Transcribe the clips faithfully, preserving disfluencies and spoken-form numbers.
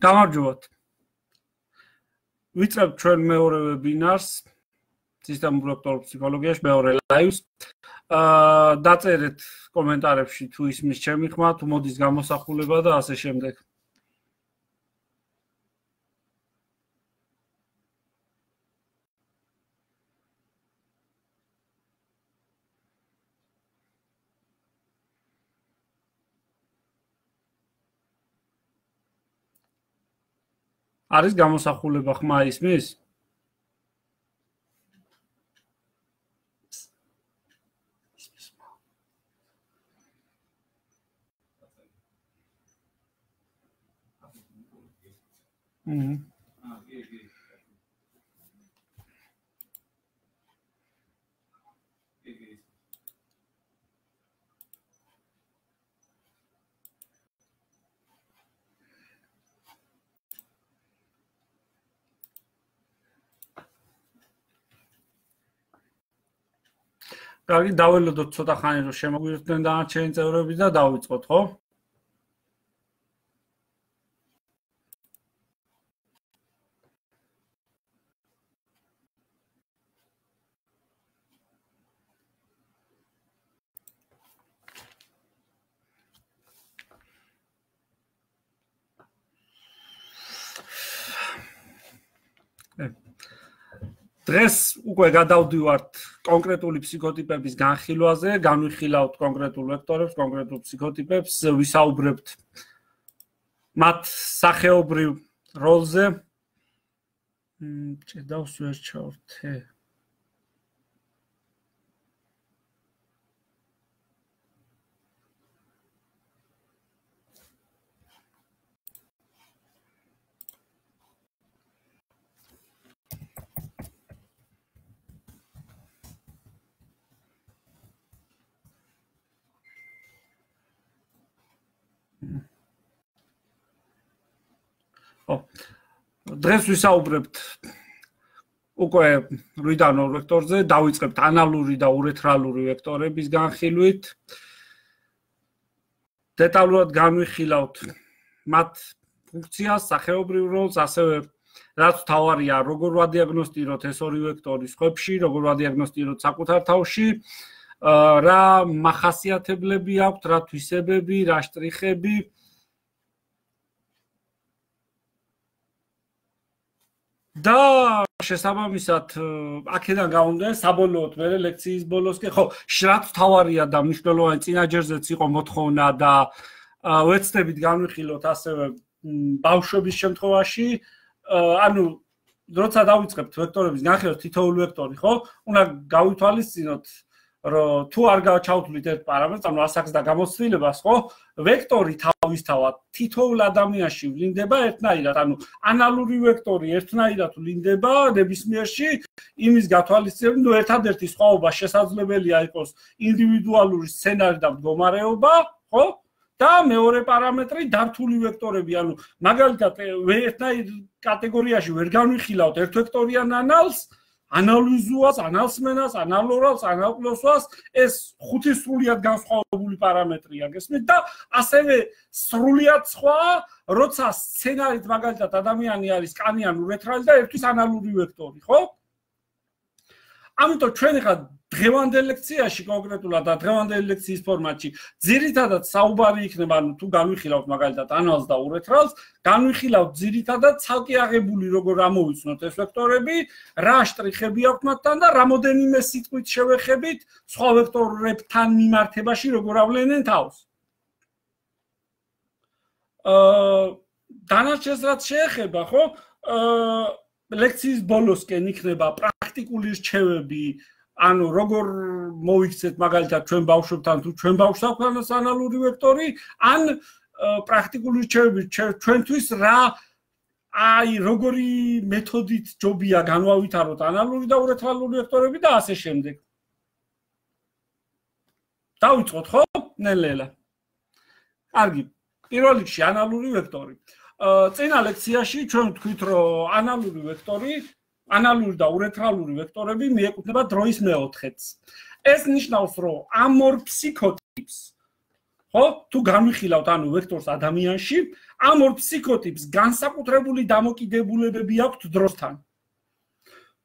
გამარჯობათ. ვიწყებთ ჩვენ მეორე ვებინარს სისტემურ ვექტორულ ფსიქოლოგიაში, მეორე ლაივს. აა დაწერეთ კომენტარებში თუ ისმის ჩემი ხმა, თუ მოდის გამოსახულება და ასე შემდეგ. არის გამოსახულება ხმა ისმის? Mhm. კარგი, დაველოდოთ ცოტა ხანი რომ შემოგვიერთდნენ დანარჩენი წევრები და დავიწყოთ, ხო? დღეს უკვე გადავდივართ კონკრეტული ფსიქოტიპების განხილვაზე, განვიხილავთ კონკრეტულ ვექტორებს, კონკრეტულ ფსიქოტიპებს, ვისაუბრებთ მათ სახეობრივ როლზე. ჭედავს ვერ ჩავრთე. დღეს ვისაუბრებთ უკვე რვიდან ორ ვექტორზე, დავიწყებთ ანალური და ურეთრალური ვექტორების განხილვით. დეტალურად განვიხილავთ მათ ფუნქციას, სახეობრივ როლს, ასევე რაც თავარია, როგორ ვადიაგნოსტიროთ ეს ორი ვექტორი სხვებში, როგორ ვადიაგნოსტიროთ საკუთარ თავში, რა მახასიათებლები აქვთ, რა თვისებები, რა შტრიხები. და შესაბამისად აქედან გამომდინარე საბოლოოდ მე ლექციის ბოლოს კი ხო რაც თავარია და მნიშვნელოვანი წინაჯერზეც იყო მოთხოვნა და ვეცდებით განვიხილოთ ასევე ბავშვების შემთხვევაში ანუ როცა დავიწყებთ ვექტორების განხილვას თითოეული ვექტორი ხო უნდა გავითვალისწინოთ რომ თუ არ ჩავთვლით ერთ პარამეტრს ანუ ასაკს და გამოცდილებას ხო ვექტორი თავისთავად თითოეულ ადამიანში ვლინდება ერთნაირად ანუ ანალური ვექტორი ერთნაირად ვლინდება ნებისმიერში იმის გათვალისწინებით ნუ ერთადერთი სხვაობა შესაძლებელია იყოს ინდივიდუალური სცენარი და მდგომარეობა ხო და მეორე პარამეტრი დართული ვექტორები ანუ მაგალითად ერთნაირ კატეგორიაში ვერ განვიხილავთ ერთვექტორიან ანალს ანალიზუას, ანალსმენას, ანალორალს, ანალკლოსვას ეს ხუთი სრულიად განსხვავებული პარამეტრია გესმით და ასევე სრულიად სხვა, როცა სცენარით მაგალითად ადამიანი არის კანი ან ურეთრალი და ერთვის ანალური ვექტორი, ხო? ამიტომ ჩვენ ხა დღევანდელ ლექციაში კონკრეტულად და დღევანდელი ლექციის ფორმატში ძირითადად საუბარი იქნება, ანუ თუ განვიხილავთ მაგალითად ანალს და ურეთრალს, განვიხილავთ ძირითადად ცალკე აღებული როგორ ამოვიცნოთ ეს ვექტორები, რა შტრიხები აქვთ მათთან და რამოდენიმე სიტყვით შევეხებით სხვა ვექტორებთან მიმართებაში როგორ ავლენენ თავს. აა დანარჩენს რაც შეეხება, ხო? აა ლექციის ბოლოსკენ იქნება პრაქტიკული რჩევები ანუ როგორ მოვიქცეთ მაგალითად ჩვენ ბავშვებთან თუ ჩვენ ბავშვს აქვს ანალური ვექტორი ან პრაქტიკული რჩევები ჩვენთვის რა აი როგორი მეთოდით ჯობია განვავითაროთ ანალური და ურეთრალური ვექტორები და ასე შემდეგ. დავიწყოთ ხო? ნელ-ნელა. კარგი. პირველ რიგში ანალური ვექტორი. წინა ლექციაში ჩვენ ვთქვით რომ ანალური ვექტორი ანალური და ურეთრალური ვექტორები მიეკუთვნება დროის მეოთხედს. ეს ნიშნავს რომ ამ ორ ფსიქოტიპს ხო? თუ განვიხილავთ ანუ ვექტორს ადამიანში, ამ ორ ფსიქოტიპს განსაკუთრებული დამოკიდებულებები აქვთ დროსთან.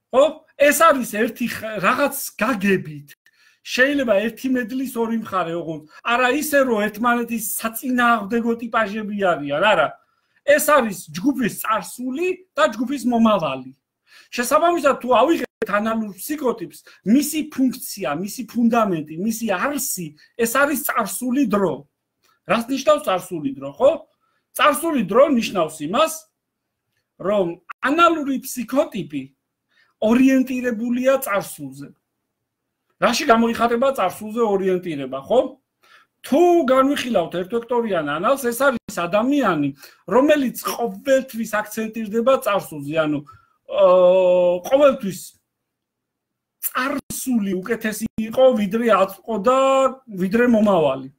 ხო? ეს არის ერთი რაღაც გაგებით. შეიძლება ერთი მედლის ორი მხარე ოღონდ. არა ისე რომ ერთმანეთის საწინააღმდეგო ტიპაჟები არიან, არა. ეს არის ჯგუფის წარსული და ჯგუფის მომავალი. შესაბამისად თუ ავიღებთ ანალურ ფსიქოტიპს, მისი ფუნქცია, მისი ფუნდამენტი, მისი არსი, ეს არის წარსული დრო. რას ნიშნავს წარსული დრო, ხო? წარსული დრო ნიშნავს იმას, რომ ანალური ფსიქოტიპი ორიენტირებულია წარსულზე. რაში გამოიხატება წარსულზე ორიენტირება, ხო? თუ განვიხილავთ ერთვექტორიან ანალს, ეს არის ადამიანი, რომელიც ყოველთვის აქცენტირდება წარსულზე, ანუ ყოველთვის წარსული უკეთესი იყო, ვიდრე აწმყო და ვიდრე მომავალი.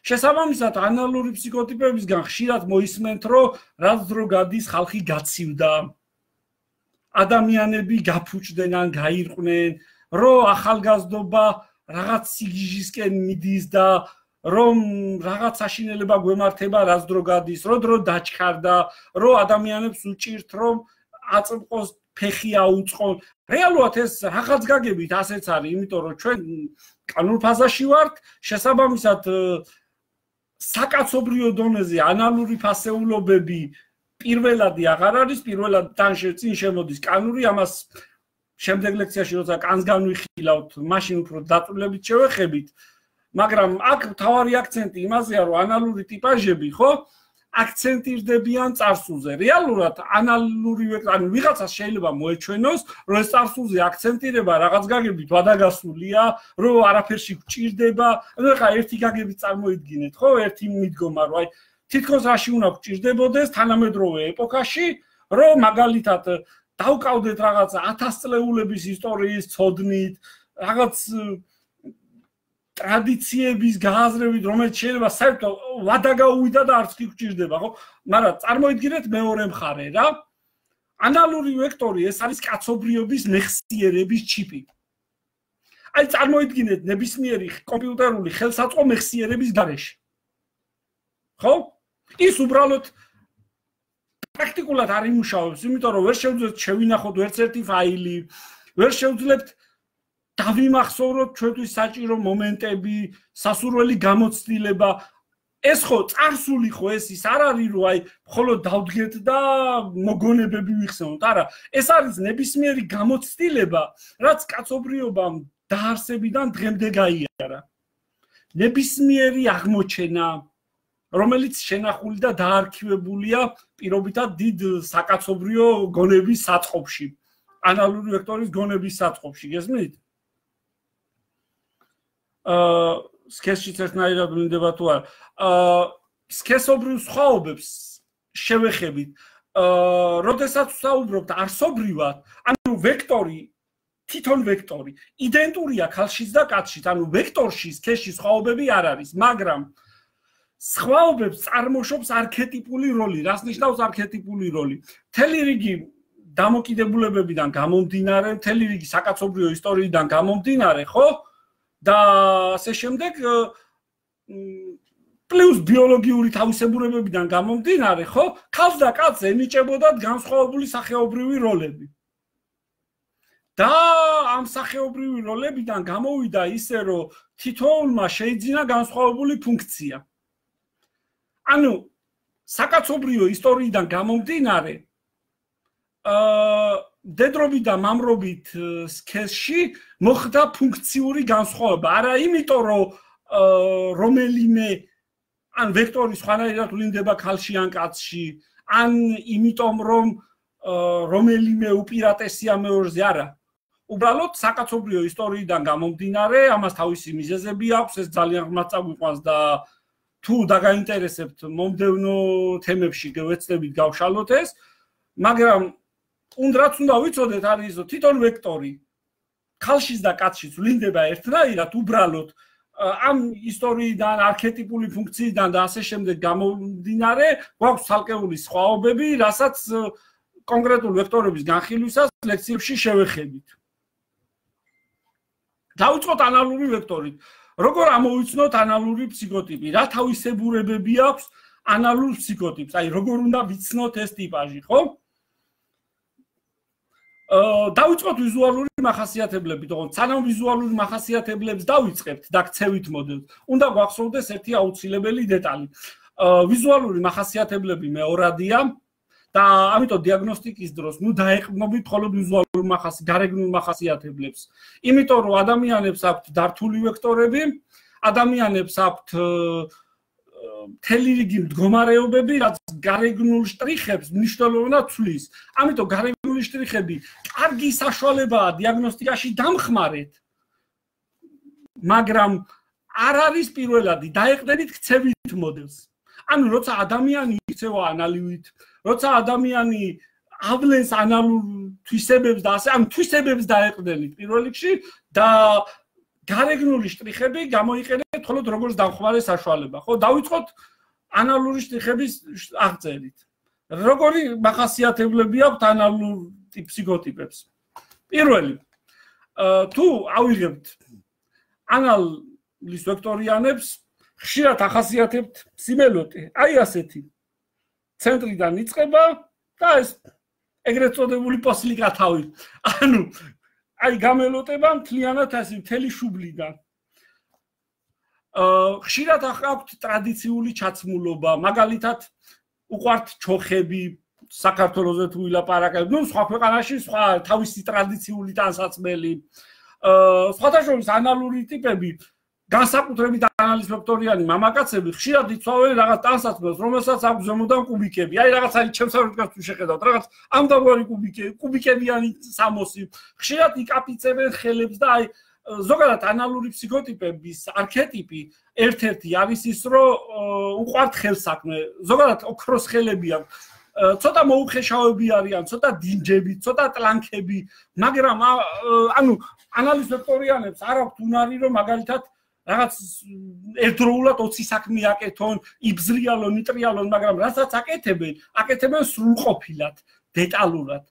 შესაბამისად, ანალური ფსიქოტიპებისგან ხშირად მოისმენთ, რომ რაც დრო გადის, ხალხი გაცივდა. ადამიანები გაფუჭდნენ ან გაირყვნენ, რომ ახალგაზრდობა რაღაც სიგიჟისკენ მიდის და რომ რაღაც საშინელება გვემართება, რაც დრო გადის, რო დრო დაჩქარდა, რომ ადამიანებს უჭირთ, რომ აწმყოს ფეხი აუწყონ. რეალურად ეს რაღაც გაგებით ასეც არის, იმიტომ რომ ჩვენ კანონურ ფაზაში ვართ, შესაბამისად საკაცობრიო დონეზე ანალური ფასეულობები პირველადი აღარ არის, პირველად თან წინ შემოდის კანური, ამას შემდეგ ლექციაში როცა კანს განვიხილავთ, მაშინ უფრო დაწვრილებით შევეხებით, მაგრამ აქ მთავარი აქცენტი იმაზეა, რომ ანალური ტიპაჟები, ხო, აქცენტირდებიან წარსულზე. რეალურად ანალური ვექტორი, ანუ ვიღაცას შეიძლება მოეჩვენოს, რომ ეს წარსულზე აქცენტირება რაღაც გაგებით ვადაგასულია, რომ არაფერში გჭირდება, ანუ ხა ერთი გაგებით წარმოიდგინეთ, ხო, ერთი მიდგომა, რომ აი თითქოს რაში უნდა გჭირდებოდეს თანამედროვე ეპოქაში, რომ მაგალითად დავკავდეთ რაღაც ათასწლეულების ისტორიის ცოდნით, რაღაც ტრადიციების გააზრებით, რომელიც შეიძლება საერთოდ ვადა გაუვიდა და არც კი გჭირდება, ხო? მაგრამ წარმოიდგინეთ მეორე მხარე რა. ანალური ვექტორი ეს არის კაცობრიობის მეხსიერების ჩიპი. აი წარმოიდგინეთ ნებისმიერი კომპიუტერული ხელსაწყო მეხსიერების გარეშე. ხო? ის უბრალოდ პრაქტიკულად არ იმუშავებს, იმიტომ რომ ვერ შევძლებთ შევინახოთ ერთ ერთი ფაილი, ვერ შევძლებთ დავიმახსოვროთ ჩვენთვის საჭირო მომენტები, სასურველი გამოცდილება. ეს ხო წარსული ხო ეს ის არ არის, რომ აი მხოლოდ დავდგეთ და მოგონებები ვიხსენოთ. არა, ეს არის ნებისმიერი გამოცდილება, რაც კაცობრიობამ დაარსებიდან დღემდე გაიარა. ნებისმიერი აღმოჩენა, რომელიც შენახული და დაარქივებულია პირობითად დიდ საკაცობრიო გონების საწყობში, ანალური ვექტორის გონების საწყობში, გესმით? აა სქესშიც ერთნაირად ვლინდება თუ არა. აა სქესობრივ სხვაობებს შევეხებით. აა როდესაც ვსაუბრობთ არსობრივად, ანუ ვექტორი, თვითონ ვექტორი, იდენტურია ქალშიც და კაცშიც, ანუ ვექტორში სქესში სხვაობები არ არის, მაგრამ სხვაობებს წარმოშობს არქეტიპული როლი. რას ნიშნავს არქეტიპული როლი? მთელი რიგი დამოკიდებულებებიდან გამომდინარე, მთელი რიგი საკაცობრიო ისტორიიდან გამომდინარე, ხო? და ასე შემდეგ პლუს ბიოლოგიური თავისებურებებიდან გამომდინარე, ხო? ქალს და კაცს ენიჭებოდათ განსხვავებული სახეობრივი როლები. და ამ სახეობრივი როლებიდან გამოვიდა ისე, რომ თითოეულმა შეიძინა განსხვავებული ფუნქცია. ანუ საკაცობრიო ისტორიიდან გამომდინარე, აა დედრობით და მამრობით სქესში მოხდა ფუნქციური განსხვავება. არა იმიტომ, რომ რომელიმე ან ვექტორი სხვანაირად ვლინდება ქალში ან კაცში, ან იმიტომ, რომ რომელიმე უპირატესია მეორზე, არა. უბრალოდ საკაცობრიო ისტორიიდან გამომდინარე, ამას თავისი მიზეზები აქვს, ეს ძალიან ღრმად წაგვიყვანს და თუ დაგაინტერესებთ მომდევნო თემებში გავეცდებით გავშალოთ ეს, მაგრამ უნდრაც უნდა ვიცოდეთ არის რომ თვითონ ვექტორი ქალშიც და კაცშიც ვლინდება ერთნაირად, უბრალოდ ამ ისტორიიდან, არქეტიპული ფუნქციიდან და ასე შემდეგ გამომდინარე, გვაქვს ცალკეული სხვაობები, რასაც კონკრეტულ ვექტორების განხილვისას ლექციებში შევეხებით. დავიწყოთ ანალური ვექტორით. როგორ ამოვიცნოთ ანალური ფსიქოტიპი? რა თავისებურებები აქვს ანალურ ფსიქოტიპს? აი, როგორ უნდა ვიცნოთ ეს ტიპაჟი, ხო? დავიწყოთ ვიზუალური მახასიათებლები, თორემ სანამ ვიზუალური მახასიათებლებს დავიწყებთ და გცევით მოდელს, უნდა გვახსოვდეს ერთი აუცილებელი დეტალი. ვიზუალური მახასიათებლები მეორადია და ამიტომ დიაგნოსტიკის დროს ნუ დაეყრდნობით მხოლოდ ვიზუალურ მახასიათებლებს, გარეგნულ მახასიათებლებს. იმიტომ რომ ადამიანებს აქვთ დართული ვექტორები, ადამიანებს აქვთ მთელი რიგი მდგომარეობები, რაც გარეგნულ შტრიხებს მნიშვნელოვნად ცვლის. ამიტომ გარეგნული შტრიხები კარგი საშუალებაა დიაგნოსტიკაში დამხმარეთ, მაგრამ არ არის პირველადი, დაეყრდნით ქცევით მოდელს. ანუ როცა ადამიანი იქცევა ანალივით, როცა ადამიანი ავლენს ანალურ თვისებებს და ასე, ამ თვისებებს დაეყრდნით პირველ რიგში და გარეგნული შტრიხები გამოიყენეთ მხოლოდ როგორც დამხმარე საშუალება. ხო, დავიწყოთ ანალური შტრიხების აღწერით. როგორი მახასიათებლები აქვთ ანალურ ფსიქოტიპებს? პირველი, თუ ავიღებთ ანალის ვექტორიანებს, ხშირად ახასიათებთ სიმელოტე, აი ასეთი. ცენტრიდან იწყება და ეს ეგრეთ წოდებული პოსლიკა თავი. ანუ აი გამელოტება მთლიანად ასე მთელი შუბლიდან. აა ხშირად აქვთ ტრადიციული ჩაცმულობა, მაგალითად უყვართ ჩოხები, საქართველოზე თუ ვილაპარაკებთ, ნუ სხვა ქვეყანაში სხვა თავისი ტრადიციული ტანსაცმელი. აა სხვადასხვა ანალური ტიპები, განსაკუთრებით ანალის ვექტორიანი მამაკაცები ხშირად იცავენ რაღაც ტანსაცმელს, რომელსაც აქვს ზემოდან კუბიკები. აი რაღაც აი ჩემს არქივს თუ შეხედავთ, რაღაც ამდამგვარი კუბიკები, კუბიკებიანი სამოსი. ხშირად იკაპიცებენ ხელებს და აი ზოგადად ანალური ფსიქოტიპების არქეტიპი ერთ-ერთი არის ის, რომ უყვართ ხელსაქმე, ზოგადად ოქროს ხელები აქვს. ცოტა მოუხეშავები არიან, ცოტა დინჯები, ცოტა ტლანქები, მაგრამ ანუ ანალის ვექტორიანებს არ აქვთ უნარი, რომ მაგალითად რაღაც ერთდროულად ოცი საქმე აკეთონ, იბზრიალონ, ნიტრიალონ, მაგრამ რასაც აკეთებენ, აკეთებენ სრულყოფილად, დეტალურად,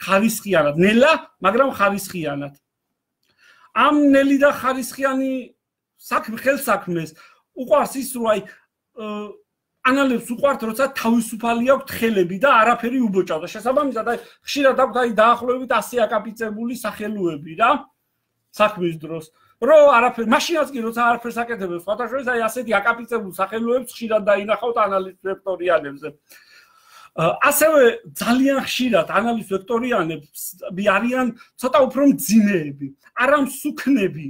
ხარისხიანად, ნელა, მაგრამ ხარისხიანად. ამ ნელი და ხარისხიანი საქმე ხელსაქმეს უყვარს ის, რომ აი ანალებს უყვართ, როცა თავისუფალი აქვთ ხელები და არაფერი უბოჭავდა. შესაბამისად, აი ხშირად აქვთ აი დაახლოებით ასი აკაპიცებული სახელოები რა საქმის დროს. რო არაფერ მაშინაც კი როცა არაფერს აკეთებენ სხვადასხვა აი ასეთი აკაპიცებულ სახელოებს ხშირად დაინახავთ ანალის ვექტორიანებზე. ასევე ძალიან ხშირად ანალის ვექტორიანები არიან ცოტა უფრო მძიმეები, არა მსუქნები.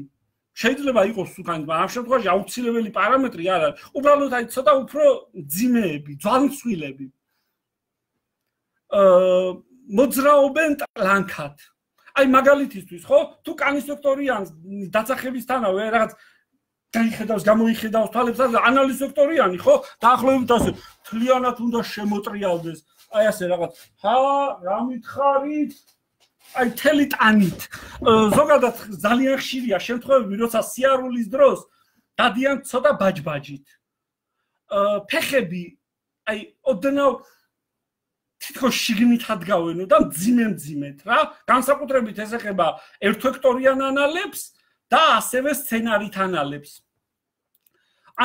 შეიძლება იყოს სუკანი, მაგრამ ამ შემთხვევაში აუცილებელი პარამეტრი არ არის. უბრალოდ აი ცოტა უფრო მძიმეები, ძვალმცვილები. აა მოძრაობენ ტლანქად. აი მაგალითისთვის ხო თუ კანის ვექტორიანს დაწახებისთანავე რაღაც დაიხედავს გამოიხედავს თვალებს და ანალის ვექტორიანი ხო დაახლოებით ასე თლიანად უნდა შემოტრიალდეს აი ასე რაღაც ჰა რა მითხარით აი თელი ტანით ზოგადად ძალიან ხშირია შემთხვევები როცა სიარულის დროს დადიან ცოტა ბაჯბაჯით ფეხები აი ოდნავ თითქოს შიგნით ადგავენო და მძიმე-მძიმეთ რა განსაკუთრებით ეს ეხება ერთვექტორიან ანალებს და ასევე სცენარით ანალებს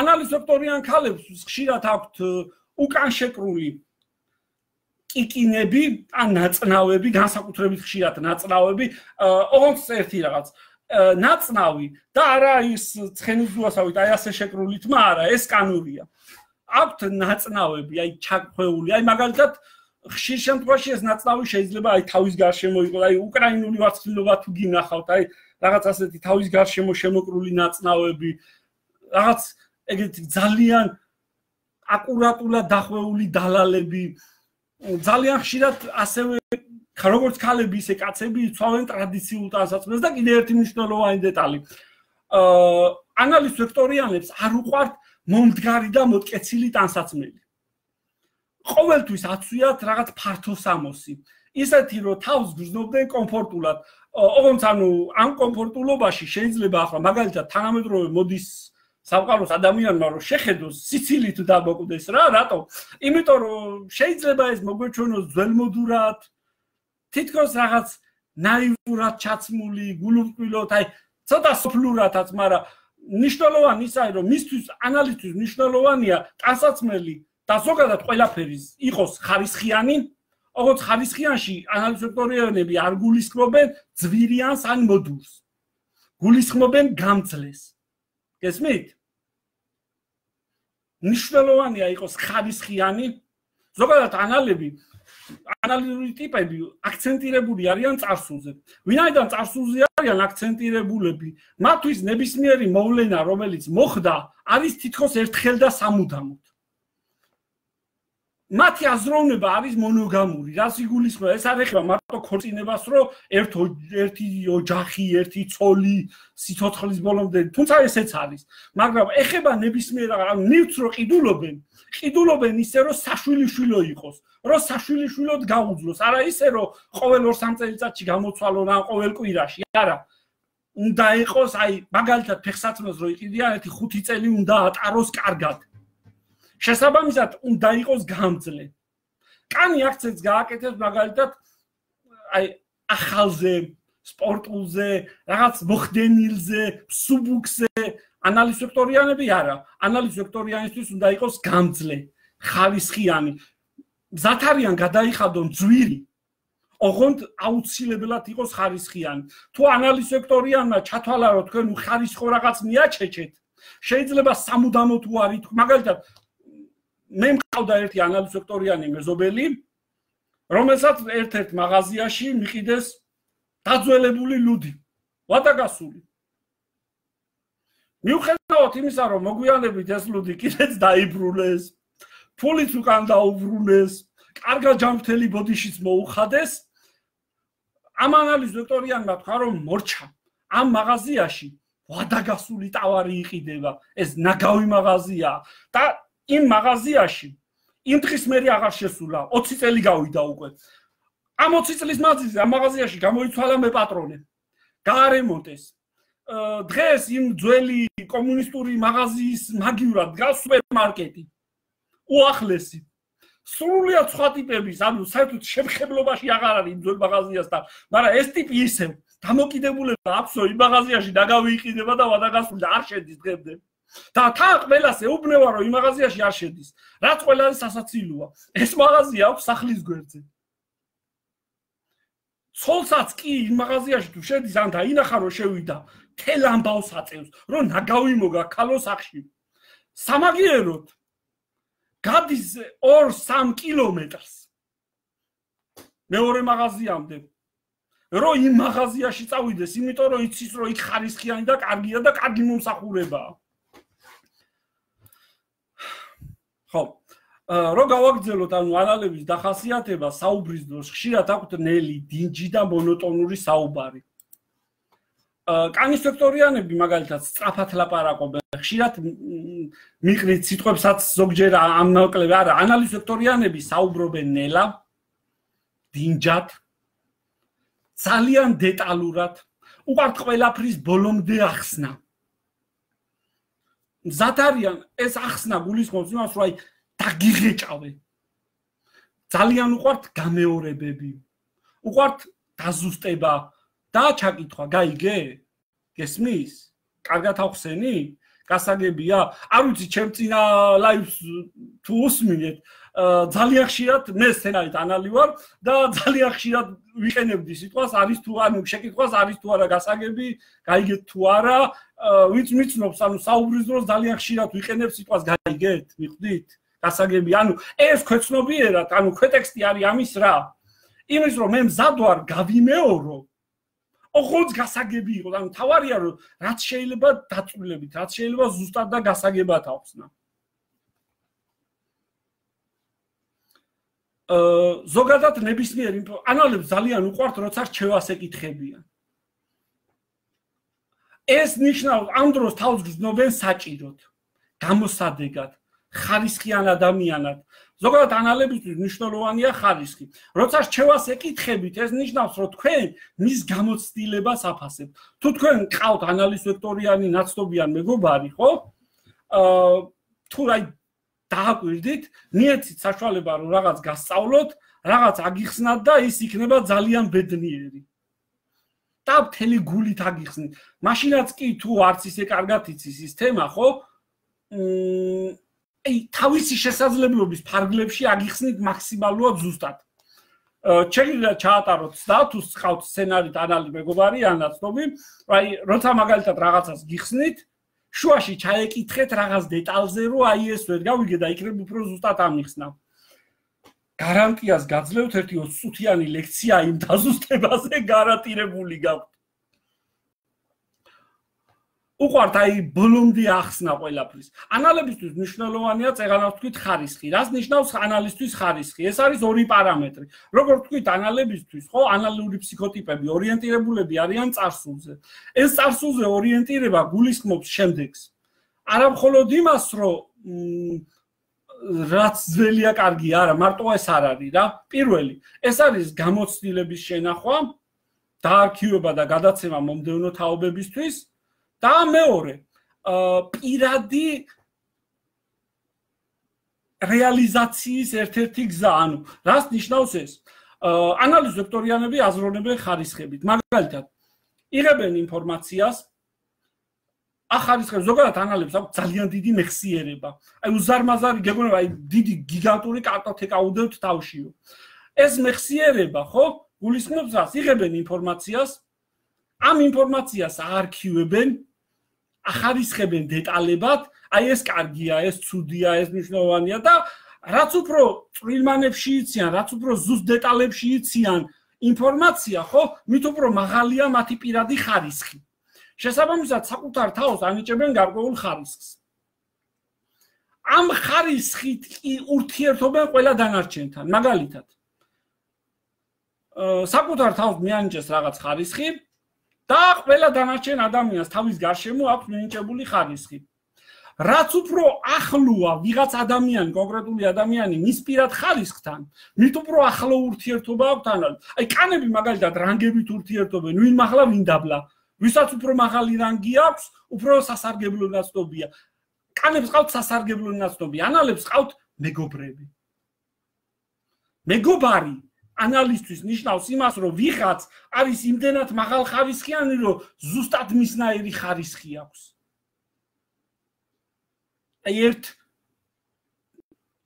ანალის ვექტორიან ქალებს ხშირად აქვთ უკან შეკრული კიკინები ან ნაწნავები განსაკუთრებით ხშირად ნაწნავები ოღონდ ერთი რაღაც ნაწნავი და არა ის ცხენის ზუასავით აი ასე შეკრული თმა არა ეს კანურია აქვთ ნაწნავები აი ჩაქვეული აი მაგალითად ხშირ შემთხვევაში ეს ნაწნავი შეიძლება აი თავის გარშემო იყოს აი უკრაინული ვარცხლილობა თუ გინახავთ აი რაღაც ასეთი თავის გარშემო შემოკრული ნაწნავები რაღაც ეგეთი ძალიან აკურატულად დახვეული დალალები ძალიან ხშირად ასევე როგორც ქალები ისე კაცები იცავენ ტრადიციულ ტანსაცმელს და კიდევ ერთი მნიშვნელოვანი დეტალი აა ანალის ვექტორიანებს არ უყვართ მომდგარი და მოტკეცილი ტანსაცმელი ყოველთვის აცვიათ რაღაც ფართო სამოსი ისეთი რომ თავს გრძნობდნენ კომფორტულად ოღონდ ანუ ამ კომფორტულობაში შეიძლება ახლა მაგალითად თანამედროვე მოდის სამყაროს ადამიანმა რომ შეხედოს სიცილით დამოკვდეს რა რატო იმიტომ რომ შეიძლება ეს მოგვეჩვენოს ძველმოდურად თითქოს რაღაც ნაივურად ჩაცმული გულუბრყვილოთ აი ცოტა სოფლურათაც მაგრამ მნიშვნელოვანი ისაა, რომ მისთვის ანალიზთვის მნიშვნელოვანია ტანსაცმელი და ზოგადად ყველაფერი იყოს ხარისხიანი, ოღონდ ხარისხიანში ანალიზატორები არ გულისხმობენ ძვირიანს ან მოდულს. გულისხმობენ გამძლეს. გესმით? მნიშვნელოვანია იყოს ხარისხიანი, ზოგადად ანალები ანალიზური ტიპები აქცენტირებული არიან წარსულზე. ვინაიდან წარსულზე არიან აქცენტირებულები, მათთვის ნებისმიერი მოვლენა, რომელიც მოხდა, არის თითქოს ერთხელ და სამუდამოდ. მათი აზროვნება არის მონოგამური, რაც იგულისხმება, ეს არ ეხება მარტო ქორწინებას, რომ ერთი ოჯახი, ერთი ცოლი სიცოცხლის ბოლომდე, თუმცა ესეც არის, მაგრამ ეხება ნებისმიერ ნივთს რო ყიდულობენ, ყიდულობენ ისე, რომ საშვილიშვილო იყოს, რომ საშვილიშვილოდ გაუძლოს, არა ისე, რომ ყოველ ორ სამ წელიწადში გამოცვალონ ან ყოველ კვირაში, არა. უნდა იყოს, აი, მაგალითად ფეხსაცმელს რო იყიდიან, ერთი ხუთი წელი უნდა ატაროს კარგად. შესაბამისად უნდა იყოს გამძლე. კანი აქცენტს გააკეთებს მაგალითად აი ახალზე, სპორტულზე, რაღაც მოხდენილზე, სუბუქზე, ანალიზატორიანები არა. ანალიზატორიანისთვის უნდა იყოს გამძლე, ხარისხიანი. მზად არიან გადაიხადონ ძვირი, ოღონდ აუცილებლად იყოს ხარისხიანი. თუ ანალიზატორიანმა ჩათვალა რომ თქვენ უხარისხო რაღაც მიაჩეჩეთ, შეიძლება სამუდამოდ უარით, მაგალითად მე მყავდა ერთი ანალიზატორიანი მეზობელი, რომელსაც ერთ-ერთ მაღაზიაში მიყიდეს დაძველებული ლუდი, ვადაგასული. მიუხედავად იმისა, რომ მოგვიანებით ეს ლუდი კიდეც დაიბრუნეს, ფულიც უკან დაუბრუნეს, კარგად ჯანმრთელი ბოდიშიც მოუხადეს, ამ ანალიზატორიანმა თქვა, რომ მორჩა, ამ მაღაზიაში ვადაგასული ტავარი იყიდება, ეს ნაგავი მაღაზია და იმ მაღაზიაში იმ დღის მერე აღარ შესულა, ოცი წელი გავიდა უკვე. ამ ოცი წლის მანძილზე ამ მაღაზიაში გამოიცვალა მე პატრონე. გაარემონტეს. დღეს იმ ძველი კომუნისტური მაღაზიის მაგივრად დგას სუპერმარკეტი. უახლესი. სრულიად სხვა ტიპების, ანუ საერთოდ შემხებლობაში აღარ არის იმ ძველ მაღაზიასთან, მაგრამ ეს ტიპი ისევ დამოკიდებულება აქვსო იმ მაღაზიაში ნაგავი იყიდება და ვადაგასული და არ შედის დღემდე. და თან ყველას ეუბნება რომ იმ მაღაზიაში არ შედის. რაც ყველას სასაცილოა. ეს მაღაზია აქვს სახლის გვერდზე. ცოლსაც კი იმ მაღაზიაში თუ შედის, ან დაინახა რომ შევიდა, თელ ამბავს აწევს, რომ ნაგავი მოგა ქალო სახში. სამაგიეროდ გადის ორ სამ კილომეტრს. მეორე მაღაზიამდე. რომ იმ მაღაზიაში წავიდეს, იმიტომ რომ იცის რომ იქ ხარისხიანი და კარგია და კარგი მომსახურებაა. ხო, რო გავაგრძელოთ ანუ ანალების დახასიათება საუბრის დროს ხშირად აქვთ ნელი, დინჯი და მონოტონური საუბარი. კანის სექტორიანები მაგალითად სწრაფად ლაპარაკობენ, ხშირად მიყრით სიტყვებსაც ზოგჯერ ამნაკლები არა, ანალიზატორიანები საუბრობენ ნელა, დინჯად, ძალიან დეტალურად, უყვართ ყველაფრის ბოლომდე ახსნა. მზად არიან ეს ახსნა გულისხმობს იმას, რომ აი დაგიღეჭავე. ძალიან უყვართ გამეორებები. უყვართ დაზუსტება და ჩაკითხვა, გაიგე? გესმის? კარგად ახსენი? გასაგებია? არ ვიცი, ჩემ წინა ლაივს თუ უსმინეთ, ძალიან ხშირად მე სცენარით ანალი ვარ და ძალიან ხშირად ვიყენებდი სიტყვას, არის თუ ანუ შეკითხვას არის თუ არა გასაგები, გაიგეთ თუ არა, ვინც მიცნობს, ანუ საუბრის დროს ძალიან ხშირად ვიყენებ სიტყვას, გაიგეთ? მიხვდით? გასაგები, ანუ ეს ქვეცნობიერად, ანუ ქვეტექსტი არის ამის რა? იმის რომ მე მზად ვარ გავიმეორო, ოღონდ გასაგები იყო, ანუ თავარია რომ რაც შეიძლება დაწვრილებით, რაც შეიძლება ზუსტად და გასაგებად ახსნა. ზოგადად ნებისმიერ ანალებს ძალიან უყვართ, როცა რჩევას ეკითხებიან. ეს ნიშნავს, ამ დროს თავს გრძნობენ საჭიროდ, გამოსადეგად, ხარისხიან ადამიანად. ზოგადად ანალებისთვის მნიშვნელოვანია ხარისხი. როცა რჩევას ეკითხებით, ეს ნიშნავს, რომ თქვენ მის გამოცდილებას აფასებთ. თუ თქვენ ყავთ ანალიზატორიანი ნაცნობიან მეგობარი, ხო? აა თუ აი დააკვირდით, მიეცით საშუალება რომ რაღაც გასწავლოთ, რაღაც აგიხსნათ და ის იქნება ძალიან ბედნიერი. და მთელი გულით აგიხსნით. მაშინაც კი თუ არც ისე კარგად იცის ის თემა, ხო? აი, თავისი შესაძლებლობის ფარგლებში აგიხსნით მაქსიმალურად ზუსტად. შეიძლება ჩაატაროთ და თუ ხავთ სცენარით ანალი მეგობარი ან ნაცნობი, აი, როცა მაგალითად რაღაცას გიხსნით, შუაში ჩაეკითხეთ რაღაც დეტალზე, რომ აი ეს ვერ გავიგე და იქნებ უფრო ზუსტად ამიხსნა. გარანტიას გაძლევთ ერთი ოცი წუთიანი ლექცია იმ დაზუსტებაზე გარანტირებული გაქვთ. უყვართ აი ბოლომდე ახსნა ყველაფრის. ანალებისთვის მნიშვნელოვანია წეღანავ თქვით ხარისხი. რას ნიშნავს ანალისთვის ხარისხი? ეს არის ორი პარამეტრი. როგორ თქვით ანალებისთვის, ხო, ანალური ფსიქოტიპები ორიენტირებულები არიან წარსულზე. ეს წარსულზე ორიენტირება გულისხმობს შემდეგს. არა მხოლოდ იმას, რომ რაც ძველია კარგი არა, მარტო ეს არ არის რა. პირველი, ეს არის გამოცდილების შენახვა, დაარქივება და გადაცემა მომდევნო თაობებისთვის. და მეორე, პირადი რეალიზაციის ერთ-ერთი გზა, ანუ რას ნიშნავს ეს? ანალიზ ვექტორიანები აზროვნებენ ხარისხებით. მაგალითად, იღებენ ინფორმაციას, ახარისხებს ზოგადად ანალებს აქვს ძალიან დიდი მეხსიერება. აი უზარმაზარი გეგონება, აი დიდი გიგანტური კარტოთეკა უდევთ თავშიო. ეს მეხსიერება, ხო, გულისხმობს რას? იღებენ ინფორმაციას, ამ ინფორმაციას აარქივებენ, ახარისხებენ დეტალებად, აი ეს კარგია, ეს ცუდია, ეს მნიშვნელოვანია და რაც უფრო წვრილმანებში იციან, რაც უფრო ზუსტ დეტალებში იციან ინფორმაცია, ხო, მით უფრო მაღალია მათი პირადი ხარისხი. შესაბამისად, საკუთარ თავს ანიჭებენ გარკვეულ ხარისხს. ამ ხარისხით კი ურთიერთობენ ყველა დანარჩენთან, მაგალითად. საკუთარ თავს მიანიჭეს რაღაც ხარისხი და ყველა დანარჩენ ადამიანს თავის გარშემო აქვს მინიჭებული ხარისხი. რაც უფრო ახლოა ვიღაც ადამიანი, კონკრეტული ადამიანი მის პირად ხარისხთან, მით უფრო ახლო ურთიერთობა აქვს თანაც. აი კანები მაგალითად რანგებით ურთიერთობენ, ვინ მაღლა, ვინ დაბლა. ვისაც უფრო მაღალი რანგი აქვს, უფრო სასარგებლო ნაცნობია. კანებს ყავთ სასარგებლო ნაცნობი, ანალებს ყავთ მეგობრები. მეგობარი ანალისტვის ნიშნავს იმას, რომ ვიღაც არის იმდენად მაღალ ხარისხიანი, რომ ზუსტად მისნაირი ხარისხი აქვს. აი ერთ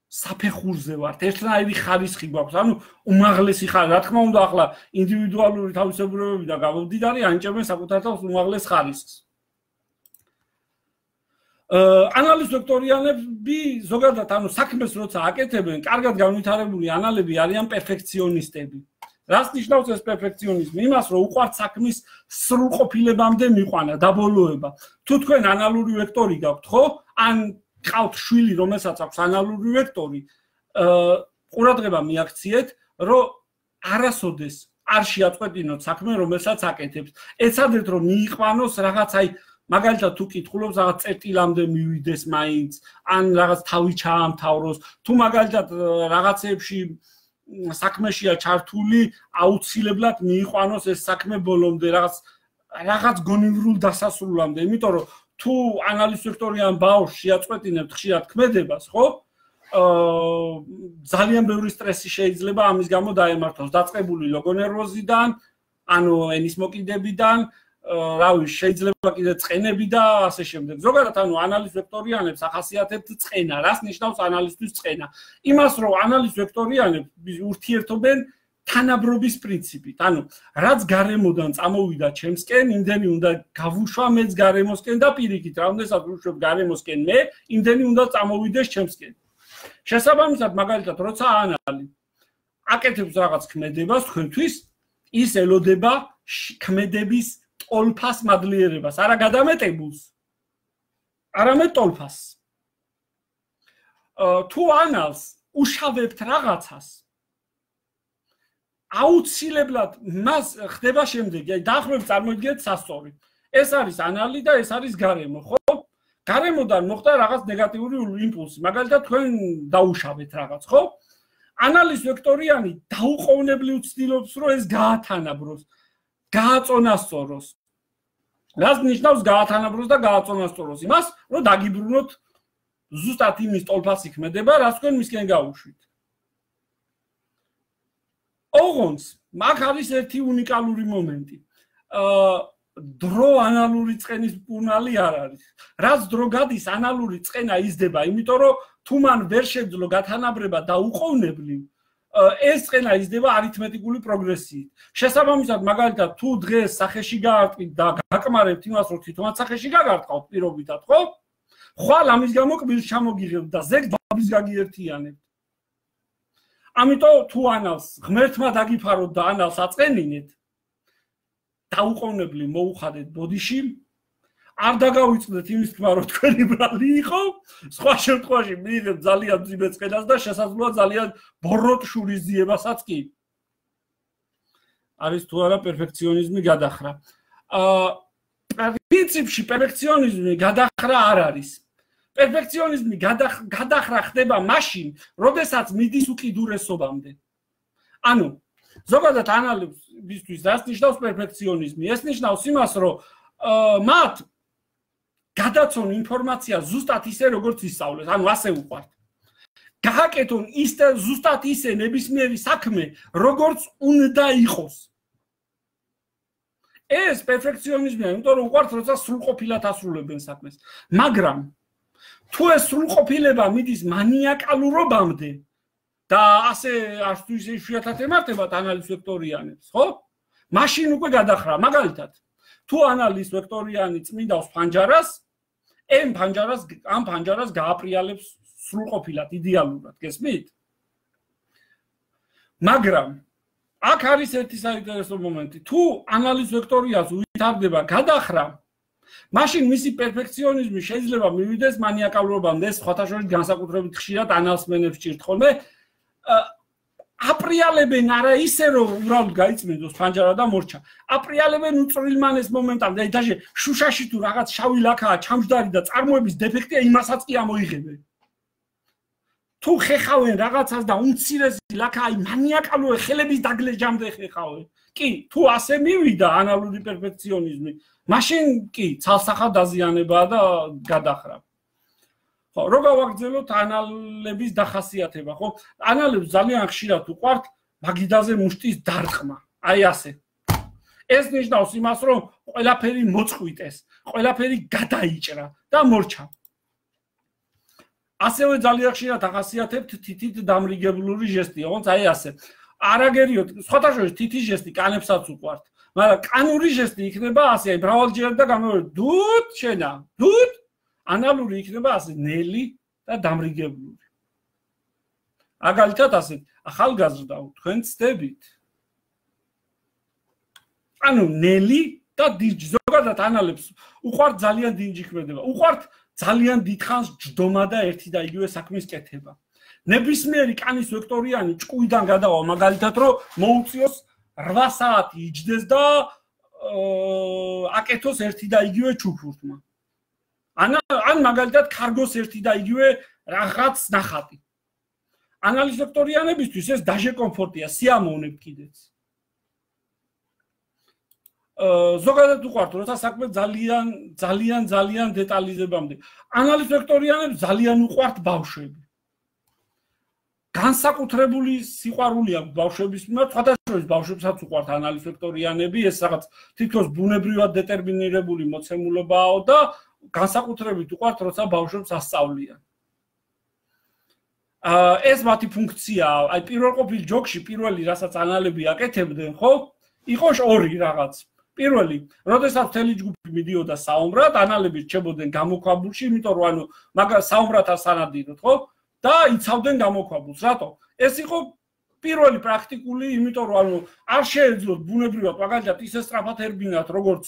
საფეხურზე ვართ, ერთნაირი ხარისხი გვაქვს, ანუ უმაღლესი ხარისხი. რა თქმა უნდა, ახლა ინდივიდუალური თავისებურებები და გამომდიდარი ანიჭებენ საკუთარ თავს უმაღლეს ხარისხს. ანალიზ ვექტორიანები ზოგადად ანუ საქმეს როცა აკეთებენ, კარგად განვითარებული ანალები არიან პერფექციონისტები. რას ნიშნავს ეს პერფექციონიზმი? იმას, რომ უყვართ საქმის სრულყოფილებამდე მიყვანა, დაბოლოება. თუ თქვენ ანალური ვექტორი გაქვთ, ხო? ან ყავთ შვილი, რომელსაც აქვს ანალური ვექტორი, ყურადღება მიაქციეთ, რომ არასოდეს არ შეაწყვეტინოთ საქმე, რომელსაც აკეთებთ. ეცადეთ, რომ მიიყვანოს რაღაც აი მაგალითად თუ კითხულობს რაღაც წერტილამდე მივიდეს მაინც, ან რაღაც თავი ჩაამთავროს, თუ მაგალითად რაღაცეებში საქმეშია ჩართული, აუცილებლად მიიყვანოს ეს საქმე ბოლომდე, რაღაც რაღაც გონივრულ დასასრულამდე, იმიტომ რომ თუ ანალიზ ვექტორიან ბავშვს შეაწყვეტინებთ ხშირად ქმედებას, ხო? აა ძალიან ბევრი სტრესი შეიძლება ამის გამო დაემართოს, დაწყებული ლოგონერვოზიდან, ანუ ენის მოკიდებიდან, რავი, შეიძლება კიდე წყენები და ასე შემდეგ. ზოგადად ანუ ანალიზ ვექტორიანებს ახასიათებთ წყენა. რას ნიშნავს ანალიზთვის წყენა? იმას, რომ ანალიზ ვექტორიანები ურთიერთობენ თანაბრობის პრინციპით. ანუ რაც გარემოდან წამოვიდა ჩემსკენ, იმდენი უნდა გავუშვა მეც გარემოსკენ და პირიქით, რამდენსაც ვუშვებ გარემოსკენ მე, იმდენი უნდა წამოვიდეს ჩემსკენ. შესაბამისად, მაგალითად, როცა ანალი აკეთებს რაღაც ქმედებას თქვენთვის, ის ელოდება ქმედების ტოლფას მადლიერებას, არა გადამეტებულს, არამედ ტოლფას. თუ ანალს უშავებთ რაღაცას, აუცილებლად მას ხდება შემდეგი, აი დაახლოებით წარმოიდგინეთ სასწორი. ეს არის ანალი და ეს არის გარემო, ხო? გარემოდან მოხდა რაღაც ნეგატიური იმპულსი, მაგალითად თქვენ დაუშავეთ რაღაც, ხო? ანალიზ ვექტორიანი დაუყოვნებლივ ცდილობს, რომ ეს გაათანაბროს. გააწონასწოროს. რას ნიშნავს გაათანაბროს და გააწონასწოროს? იმას, რომ დაგიბრუნოთ ზუსტად იმის ტოლფასი ქმედება, რაც თქვენ მისკენ გაუშვით. ოღონდ მაგ არის ერთი უნიკალური მომენტი. დრო ანალური წყენის მკურნალი არ არის. რაც დრო გადის ანალური წყენა იზრდება, იმიტომ რომ თუ მან ვერ შეძლო გათანაბრება და უყოვნებლივ ეს წყენა იზრდება არითმეტიკული პროგრესიით. შესაბამისად, მაგალითად, თუ დღეს სახეში გაარტყით და გაკმარებთ იმას, რომ თვითონაც სახეში გაგარტყავთ პირობითად, ხო? ხვალ ამის გამო კბილს ჩამოგიღებთ და ზეგ ბაბის გაგიერთიანებთ. ამიტომ თუ ანალს ღმერთმა დაგიფაროთ და ანალს აწყენინეთ, დაუყოვნებლივ მოუხადეთ ბოდიში, არ დაგავიწყდეთ იმის თქმა, რომ თქვენი ბრალი იყო, სხვა შემთხვევაში მიიღებთ ძალიან მძიმე წყენას და შესაძლოა ძალიან ბოროტ შურის ძიებასაც კი. არის თუ არა პერფექციონიზმი გადახრა. პრინციპში პერფექციონიზმი გადახრა არ არის. პერფექციონიზმი გადახრა ხდება მაშინ, როდესაც მიდის უკიდურესობამდე. ანუ ზოგადად ანალიზისთვის რას ნიშნავს პერფექციონიზმი? ეს ნიშნავს იმას, რომ მათ გადაცონ ინფორმაცია ზუსტად ისე, როგორც ისწავლეს, ანუ ასე უყვართ. გააკეთონ ისე ზუსტად ისე ნებისმიერი საქმე, როგორც უნდა იყოს. ეს პერფექციონიზმია, იმიტომ რომ უყვართ, როცა სრულყოფილად ასრულებენ საქმეს. მაგრამ თუ ეს სრულყოფილება მიდის მანიაკალურობამდე და ასე არც თუ ისე იშვიათად ემართებათ ანალიზ ვექტორიანებს, ხო? მაშინ უკვე გადახრა. მაგალითად, თუ ანალიზ ვექტორიანი წმინდავს ფანჯარას, ამ ფანჯარას ამ ფანჯარას გააპრიალებს სრულყოფილად, იდეალურად, გესმით? მაგრამ აქ არის ერთი საინტერესო მომენტი. თუ ანალიზ ვექტორიას უვითარდება გადახრა, მაშინ მისი პერფექციონიზმი შეიძლება მივიდეს მანიაკალურობამდე. ეს სხვათა შორის განსაკუთრებით ხშირად ანალსმენებს ჭირთ ხოლმე. აპრიალებენ არა ისე, რომ უბრალოდ გაიწმინდოს ფანჯარა და მორჩა. აპრიალებენ უწრილმანეს მომენტამდე. დაჟე შუშაში თუ რაღაც შავი ლაქაა, ჩამჯდარი და წარმოების დეფექტია, იმასაც კი ამოიღებენ. თუ ხეხავენ რაღაცას და უმცირესი ლაქა, აი მანიაკალურე ხელების დაგლეჯამდე ხეხავენ. კი, თუ ასე მივიდა ანალური პერფექციონიზმი, მაშინ კი ცალსახად დაზიანებაა და გადახრა. ხო, რო გავაგრძელოთ ანალების დახასიათება, ხო? ანალებს ძალიან ხშირად უყვართ მაგიდაზე მუშტის დარტყმა. აი ასე. ეს ნიშნავს იმას, რომ ყველაფერი მოწყვიტეს, ყველაფერი გადაიჭრა და მორჩა. ასევე ძალიან ხშირად ახასიათებთ თითით დამრიგებლური ჟესტი, ოღონდ აი ასე. არაგერიოთ, სხვათა შორის თითის ჟესტი კანებსაც უყვართ, მაგრამ კანური ჟესტი იქნება ასე, აი მრავალჯერ და გამოვიდეთ, დუდ შენა, დუდ ანალური იქნება ასე ნელი და დამრიგებლური. მაგალითად ასე, ახალგაზრდაო, თქვენ ცდებით. ანუ ნელი და დინჯი, ზოგადად ანალებს უყვართ ძალიან დინჯი ქმედება. უყვართ ძალიან დიდხანს ჯდომა და ერთი და იგივე საქმის კეთება. ნებისმიერი კანის ვექტორიანი ჭკუიდან გადავა, მაგალითად, რომ მოუწიოს რვა საათი იჯდეს და აკეთოს ერთი და იგივე ჩუქურთმა. ან ან მაგალითად კარგოს ერთი და იგივე რაღაც ნახატი. ანალიზ ვექტორიანებისთვის ეს დაჟე კომფორტია, სიამოვნებ კიდეც. ზოგადად უყვართ, როცა საქმე ძალიან ძალიან ძალიან დეტალიზებამდე. ანალიზ ვექტორიანებს ძალიან უყვართ ბავშვები. განსაკუთრებული სიყვარული აქვს ბავშვების მიმართ, სხვათა შორის ბავშვებსაც უყვართ ანალიზ ვექტორიანები, ეს რაღაც თითქოს ბუნებრივად დეტერმინირებული მოცემულობაა და განსაკუთრებით უყვართ, როცა ბავშვებს ასწავლიან. ეს მათი ფუნქციაა, აი პირველყოფილ ჯოგში პირველი რასაც ანალები აკეთებდნენ, ხო? იყო ორი რაღაც. პირველი, როდესაც მთელი ჯგუფი მიდიოდა საომრად, ანალები რჩებოდნენ გამოქვაბულში, იმიტომ რომ ანუ მაგას საომრად არ სანადიროთ, ხო? და იცავდნენ გამოქვაბულს. რატო? ეს იყო პირველი პრაქტიკული, იმიტომ რომ ანუ არ შეეძლოთ ბუნებრივად მაგალითად ისე სწრაფად ერბინათ, როგორც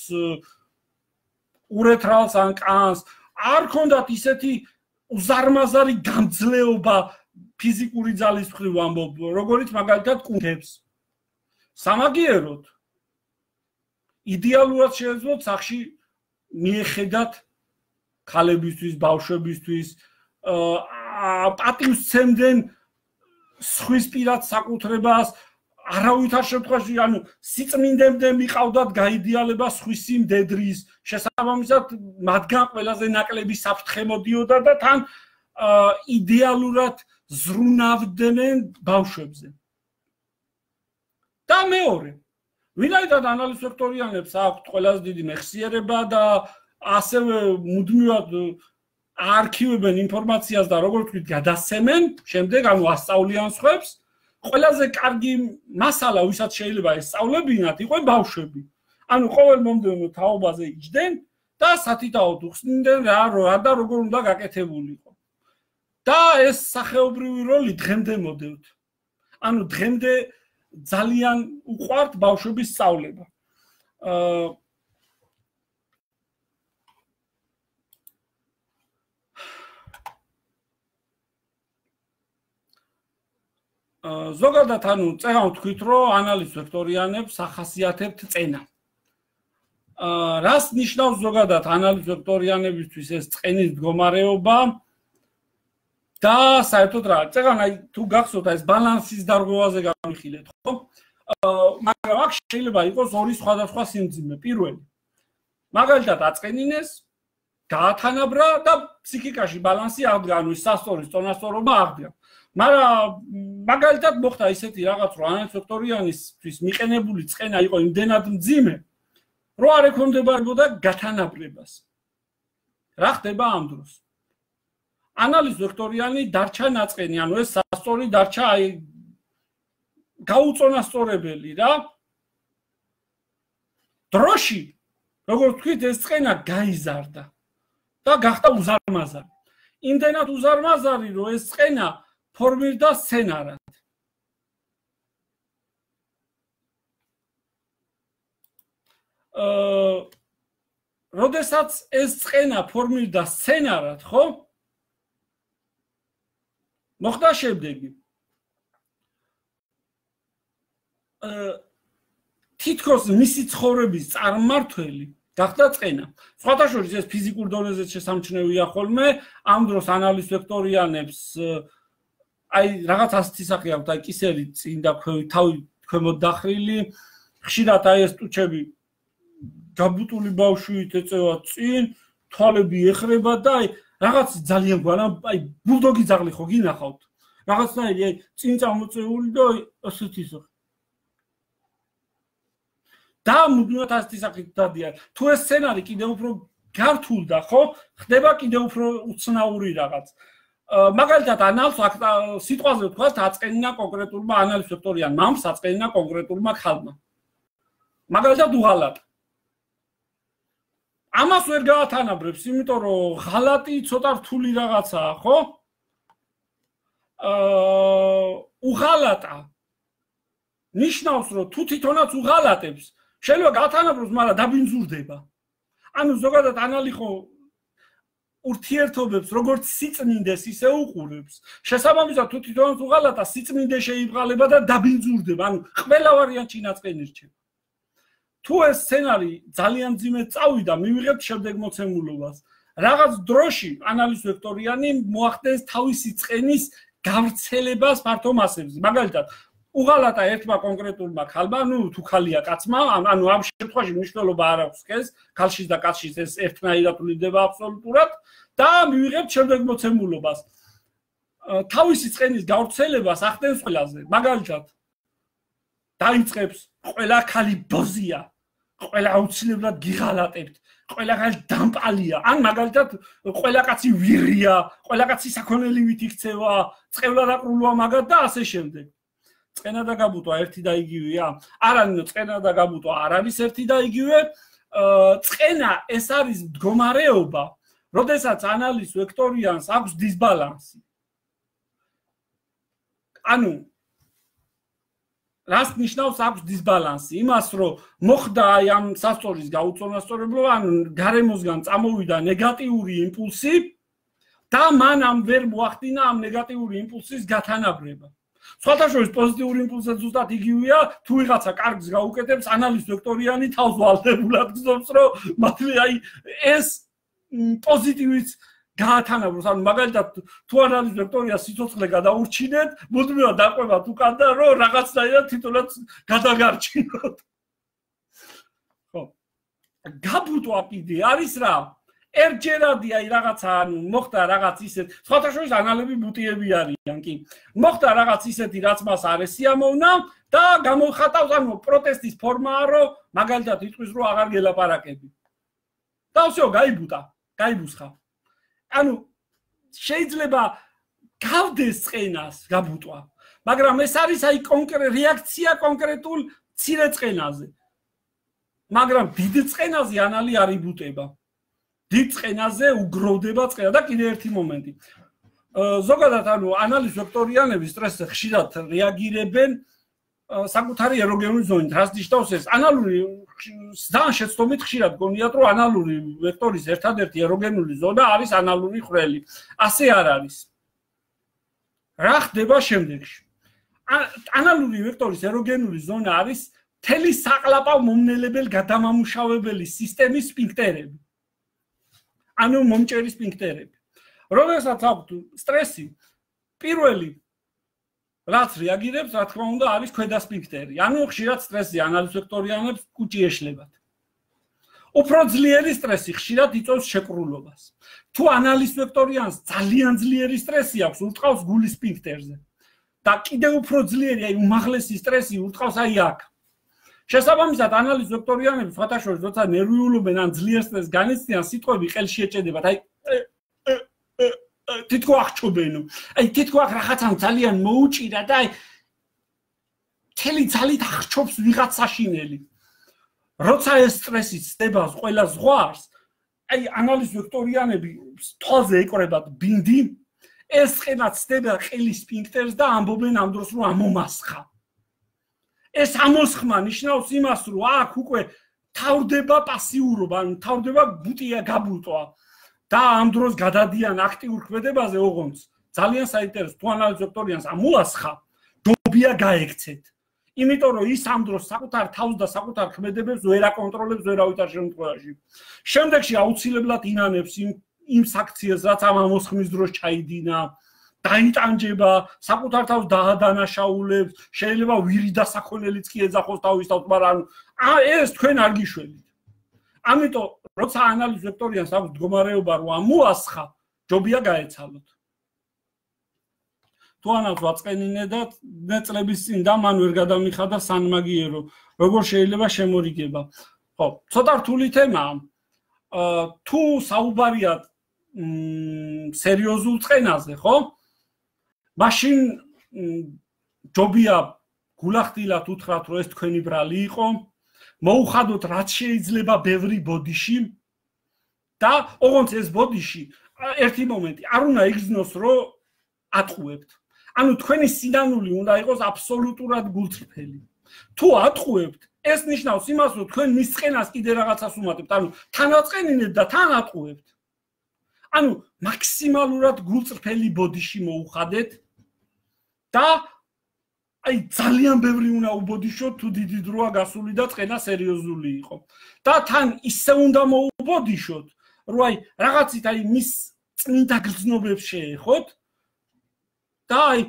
ურეთრალს ან კანს, არ ქონდათ ისეთი უზარმაზარი გამძლეობა ფიზიკური ძალის მხრივ ამბობ, როგორც მაგალითად კუნთებს. სამაგიეროდ იდეალურად შეეძლოთ სახში მიეხედათ ქალებისთვის, ბავშვებისთვის, პატივს სცემდნენ სხვის პირად საკუთრებას, არავითარ შემთხვევაში, ანუ სიწმინდემდე მიყავდათ გაიდეალება სხვისი მდედრის, შესაბამისად მათგან ყველაზე ნაკლები საფრთხე მოდიოდა და თან იდეალურად ზრუნავდნენ ბავშვებზე. და მეორე, ვინაიდან ანალიზ ვექტორიანებს აქვთ ყველაზე დიდი მეხსიერება და ასევე მუდმივად არქივებენ ინფორმაციას და როგორც ვთქვით გადასცემენ, შემდეგ ანუ ასწავლიან სხვებს, ყველაზე კარგი მასალა, ვისაც შეიძლება ესწავლებინათ, იყო ბავშვები. ანუ ყოველ მომდევნო თაობაზე იჯდნენ და სათითაოდ უხსნიდნენ რა რა და როგორ უნდა გაკეთებულიყო. და ეს სახეობრივი როლი დღემდე მოდევთ. ანუ დღემდე ძალიან უყვართ ბავშვების სწავლება. აა ზოგადად ანუ წერან ვთქვით, რომ ანალიზ ვექტორიანებს ახასიათებთ წენა. აა რას ნიშნავს ზოგადად ანალიზ ვექტორიანებისთვის ეს წენის მდგომარეობა და საერთოდ რა? წერან აი თუ გახსოვთ ეს ბალანსის დარღვევაზე გამიხილეთ, ხო? აა მაგრამ აქ შეიძლება იყოს ორი სხვადასხვა სიმძიმე. პირველი მაგალითად აწყენინეს, გაათანაბრა და ფსიქიკაში ბალანსი აღდგა, ანუ სასწორის წონასწორობა აღდგა. მაგრამ მაგალითად მოხდა ისეთი რაღაც, რომ ანალიზ ვექტორიანისთვის მიყენებული წენა იყო იმდენად მძიმე, რომ არ ექვემდებარებოდა გათანაბრებას. რა ხდება ამ დროს? ანალიზ ვექტორიანი დარჩა ნაწყენი, ანუ ეს სასწორი დარჩა აი გაუწონასწორებელი რა. დროში, როგორც ვთქვით, ეს წენა გაიზარდა და გახდა უზარმაზარი. იმდენად უზარმაზარი, რომ ეს წენა ფორმირდა სცენარად. აა როდესაც ეს წენა ფორმირდა სცენარად, ხო? მოხდა შემდეგი. აა თითქოს მისი ცხოვრების წარმმართველი გახდა წენა. სხვათა შორის ეს ფიზიკურ დონეზე შესამჩნევია ხოლმე, ამ დროს ანალიზ ვექტორიანებს აი რაღაც ასეთი სახე აქვს, აი კისერი წინ და თავი ქვემოთ დახრილი, ხშირად აი ეს ტუჩები გაბუტული ბავშვით ეწევა წინ, თვალები ეხრება და აი რაღაც ძალიან გვანა, აი ბულდოგი ძაღლი ხო გინახავთ? რაღაცნაირი აი წინ წამოწეული და აი ასეთი სახე. და მუდმივად ასეთი სახით დადიან. თუ ეს სცენარი კიდევ უფრო გართულდა, ხო? ხდება კიდევ უფრო უცნაური რაღაც. მაგალითად ანალს სიტყვაზე ვთქვათ, აწყენინა კონკრეტულმა ანალიზ ვექტორიან მამს, აწყენინა კონკრეტულმა ხალმა. მაგალითად უღალატა. ამას ვერ გაათანაბრებს, იმიტომ რომ ღალატი ცოტა რთული რაღაცაა, ხო? აა უღალატა ნიშნავს, რომ თუ თვითონაც უღალატებს, შეიძლება გაათანაბროს, მაგრამ დაბინძურდება. ანუ ზოგადად ანალი ხო ურთიერთობებს როგორც სიწმინდეს ისე უყურებს. შესაბამისად თუ თვითონაც უღალატა, სიწმინდე შეიბრალება და დაბინძურდება. ანუ ყველა ვარიანტი ნაწყენი რჩება. თუ ეს სცენარი ძალიან ძიმედ წავიდა, მივიღებთ შემდეგმოცემულობას. რაღაც დროში ანალიზ ვექტორიანი მოახდენს თავისი წენის გავრცელებას ფართო მასებზე. მაგალითად, უღალატა ერთმა კონკრეტულმა ქალმა, ну თუ ქალია კაცმა, ანუ ამ შემთხვევაში მნიშვნელობა არ აქვს ეს, ქალშიც და კაცშიც ეს ერთნაირად ვლინდება აბსოლუტურად და მივიღებთ შემდეგმოცემულობას. თავისი წენის გავრცელებას ახდენს ყველაზე. მაგალითად, დაიწყებს ყველა ქალი ბოზია, ყველა აუცილებლად გიღალატებთ, ყველა ქალი დამპალია, ან მაგალითად ყველა კაცი ვირია, ყველა კაცი საქონელივით იქცევა, წყევლადაკრულვა მაგათ და ასე შემდეგ. წენა და გაბუტვა ერთი და იგივეა? არა, წენა და გაბუტვა არ არის ერთი და იგივე. წენა ეს არის მდგომარეობა, როდესაც ანალიზ ვექტორიანს აქვს დისბალანსი. ანუ რას ნიშნავს აქვს დისბალანსი? იმას, რომ მოხდა აი ამ სასწორის გაუწონასწორებლობა, ანუ გარემოსგან წამოვიდა ნეგატიური იმპულსი და მან ამ ვერ მოახდინა ამ ნეგატიური იმპულსის გათანაბრება. სხვათა შორის პოზიტიური იმპულსი ზუსტად იგივეა, თუ ვიღაცა კარგს გაუკეთებს, ანალიზ ვექტორიანი თავს ვალდებულად გზობს, რომ მათი აი ეს პოზიტივიც გაათანაბროს. ანუ მაგალითად თუ ანალიზ ვექტორია სიცოცხლე გადაურჩინეთ, მუდმივად დაყვებათ უკან და რომ რაღაცნაირად თვითონაც გადაგარჩინოთ. ხო. გაბუტვა კიდე არის რა? ერთჯერადი აი რაღაცა მოხდა რაღაც ისეთ სხვათა შორის ანალები ბუტიები არიან კი მოხდა რაღაც ისეთი რაც მას არ ესიამოვნა და გამოხატავს ანუ პროტესტის ფორმაა რომ მაგალითად იტყვის რომ აღარ გელაპარაკები და всё გაიბუტა გაიბუსხა ანუ შეიძლება გავდეს წყენას გაბუტვა მაგრამ ეს არის აი კონკრეტ რეაქცია კონკრეტულ ცირე წყენაზე მაგრამ დიდ წყენაზე ანალი არ იბუტება დიდ წყენაზე უგროვდება წყენა და კიდე ერთი მომენტი ზოგადად ანუ ანალის ვექტორიანები სტრესზე ხშირად რეაგირებენ საკუთარი ეროგენული ზონით რაც ნიშნავს ეს ანალური ძალიან შეცდომით ხშირად გონიათ რომ ანალური ვექტორის ერთადერთი ეროგენული ზონა არის ანალური ხვრელი ასე არ არის რა ხდება შემდეგში ანალური ვექტორის ეროგენული ზონა არის თელი საყლაპავ მომნელებელ გადამამუშავებელი სისტემის სფინქტერები ანუ მომჭერის სფინქტერები როდესაც აქვთ სტრესი პირველი რაც რეაგირებს რა თქმა უნდა არის ქვედა სფინქტერი ანუ ხშირად სტრესი ანალის ვექტორიანებს კუჭი ეშლებათ უფრო ძლიერი სტრესი ხშირად იწვევს შეკრულობას თუ ანალის ვექტორიანს ძალიან ძლიერი სტრესი აქვს ურტყავს გულის სფინქტერზე და კიდევ უფრო ძლიერი აი უმაღლესი სტრესი ურტყავს აი აქ შესაბამისად ანალის ვექტორიანები სხვათა შორის როცა ნერვიულობენ ან ძლიერ სტრესს განიცდიან სიტყვები ყელში ეჭედებათ აი თითქო აღჩობენო აი თითქო აქ რაღაცამ ძალიან მოუჭირა და აი თელი ძალით აღჩობს ვიღაც საშინელი როცა ეს სტრესი ცდება ყველა ზღვარს აი ანალის ვექტორიანები თვალზე ეკრებათ ბინდი ეს წყენა ცდება ყელის სფინქტერს და ამბობენ ამ დროს რომ ამომასხა ეს ამოსხმა ნიშნავს იმას რომ აქ უკვე თავდება პასიურობა ანუ თავდება ბუტია გაბუტვა და ამ დროს გადადიან აქტიურ ქმედებაზე ოღონდ ძალიან საინტერესო თუ ანალის ვექტორიანს ამოასხა ჯობია გაექცეთ იმიტომ რომ ის ამ დროს საკუთარ თავს და საკუთარ ქმედებებს ვერ აკონტროლებს ვერავითარ შემთხვევაში შემდეგში აუცილებლად ინანებს იმ იმ საქციელს რაც ამ ამოსხმის დროს ჩაიდინა დაიტანჯება საკუთარ თავს დაადანაშაულებს შეიძლება ვირი დასახონელიც კი ეძახოს თავის თავს მაგრამ ეს თქვენ არ გიშველით ამიტომ როცა ანალის ვექტორიანს აქვს მდგომარეობა რომ ამოასხა ჯობია გაეცალოთ თუ ანალს ვაწყენინე და ნაწლების წინ და მან ვერ გადამიხადა სანმაგიერო როგორ შეიძლება შემორიგება ხო ცოტა რთული თემაა თუ საუბარია სერიოზულ წყენაზე ხო მაშინ ჯობია გულახდილად უთხრათ რომ ეს თქვენი ბრალი იყო მოუხადოთ რაც შეიძლება ბევრი ბოდიში და ოღონდ ეს ბოდიში ერთი მომენტი არ უნდა იგრძნოს რომ ატყუებთ ანუ თქვენი სინანული უნდა იყოს აბსოლუტურად გულწრფელი თუ ატყუებთ ეს ნიშნავს იმას რომ თქვენ მის წყენას კიდე რაღაცას უმატებთ ანუ თან აწყენინებთ და თან ატყუებთ ანუ მაქსიმალურად გულწრფელი ბოდიში მოუხადეთ და აი ძალიან ბევრი უნდა უბოდიშოთ თუ დიდი დროა გასული და წყენა სერიოზული იყო და თან ისე უნდა მოუბოდიშოთ რომ აი რაღაცით აი მის წმინდა გრძნობებს შეეხოთ და აი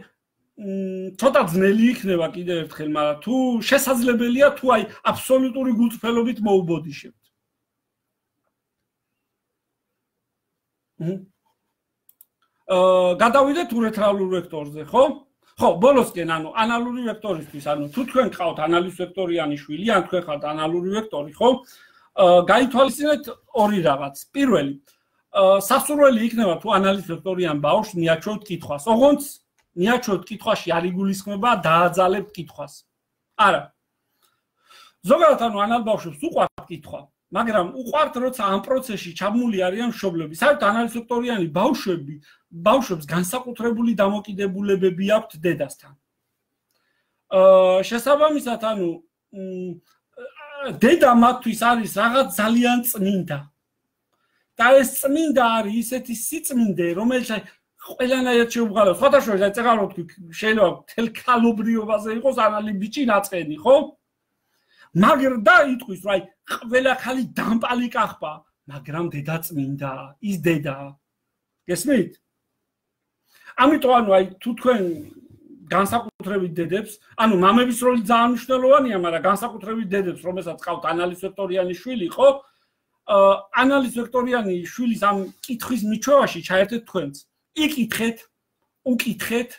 ცოტა ძნელი იქნება კიდევ ერთხელ მაგრამ თუ შესაძლებელია თუ აი აბსოლუტური გულწრფელობით მოუბოდიშებთ აა გადავიდეთ ურეთრალურ ვექტორზე ხო ხო ბოლოსკენ ანუ ანალური ვექტორისთვის ანუ თუ თქვენ ყავთ ანალის ვექტორიანი შვილი ან თქვენ ხართ ანალური ვექტორი ხო გაითვალისწინეთ ორი რაღაც პირველი სასურველი იქნება თუ ანალის ვექტორიან ბავშვს მიაჩვევთ კითხვას ოღონდ მიაჩვევთ კითხვაში არ იგულისხმება დააძალებთ კითხვას არა ზოგადად ანუ ანალ ბავშვებს უყვართ კითხვა მაგრამ უყვართ როცა ამ პროცესში ჩაბმული არიან მშობლები საერთოდ ანალის ვექტორიანი ბავშვები ბავშვებს განსაკუთრებული დამოკიდებულებები აქვთ დედასთან აა შესაბამისად ანუ დედა მათთვის არის რაღაც ძალიან წმინდა და ეს წმინდა არის ისეთი სიწმინდე რომელიც ყველანაირად შეუბრალოს სხვათა შორის აი წეგარო თქვი შეიძლება თელქალობრიობაზე იყოს ანალი ბიჭი ნაწყენი ხო მაგრამ და იტყვის რომ აი ყველა ხალი დამპალი კახბა მაგრამ დედა წმინდა ის დედა გესმით ამიტომ ანუ აი თუ თქვენ განსაკუთრებით დედებს ანუ მამების როლი ძალიან მნიშვნელოვანია მაგრამ განსაკუთრებით დედებს რომელსაც ყავთ ანალის ვექტორიანი შვილი ხო ანალიზ ვექტორიანი შვილის ამ კითხვის მიჩვევაში ჩაერთეთ თქვენც. იკითხეთ, უკითხეთ,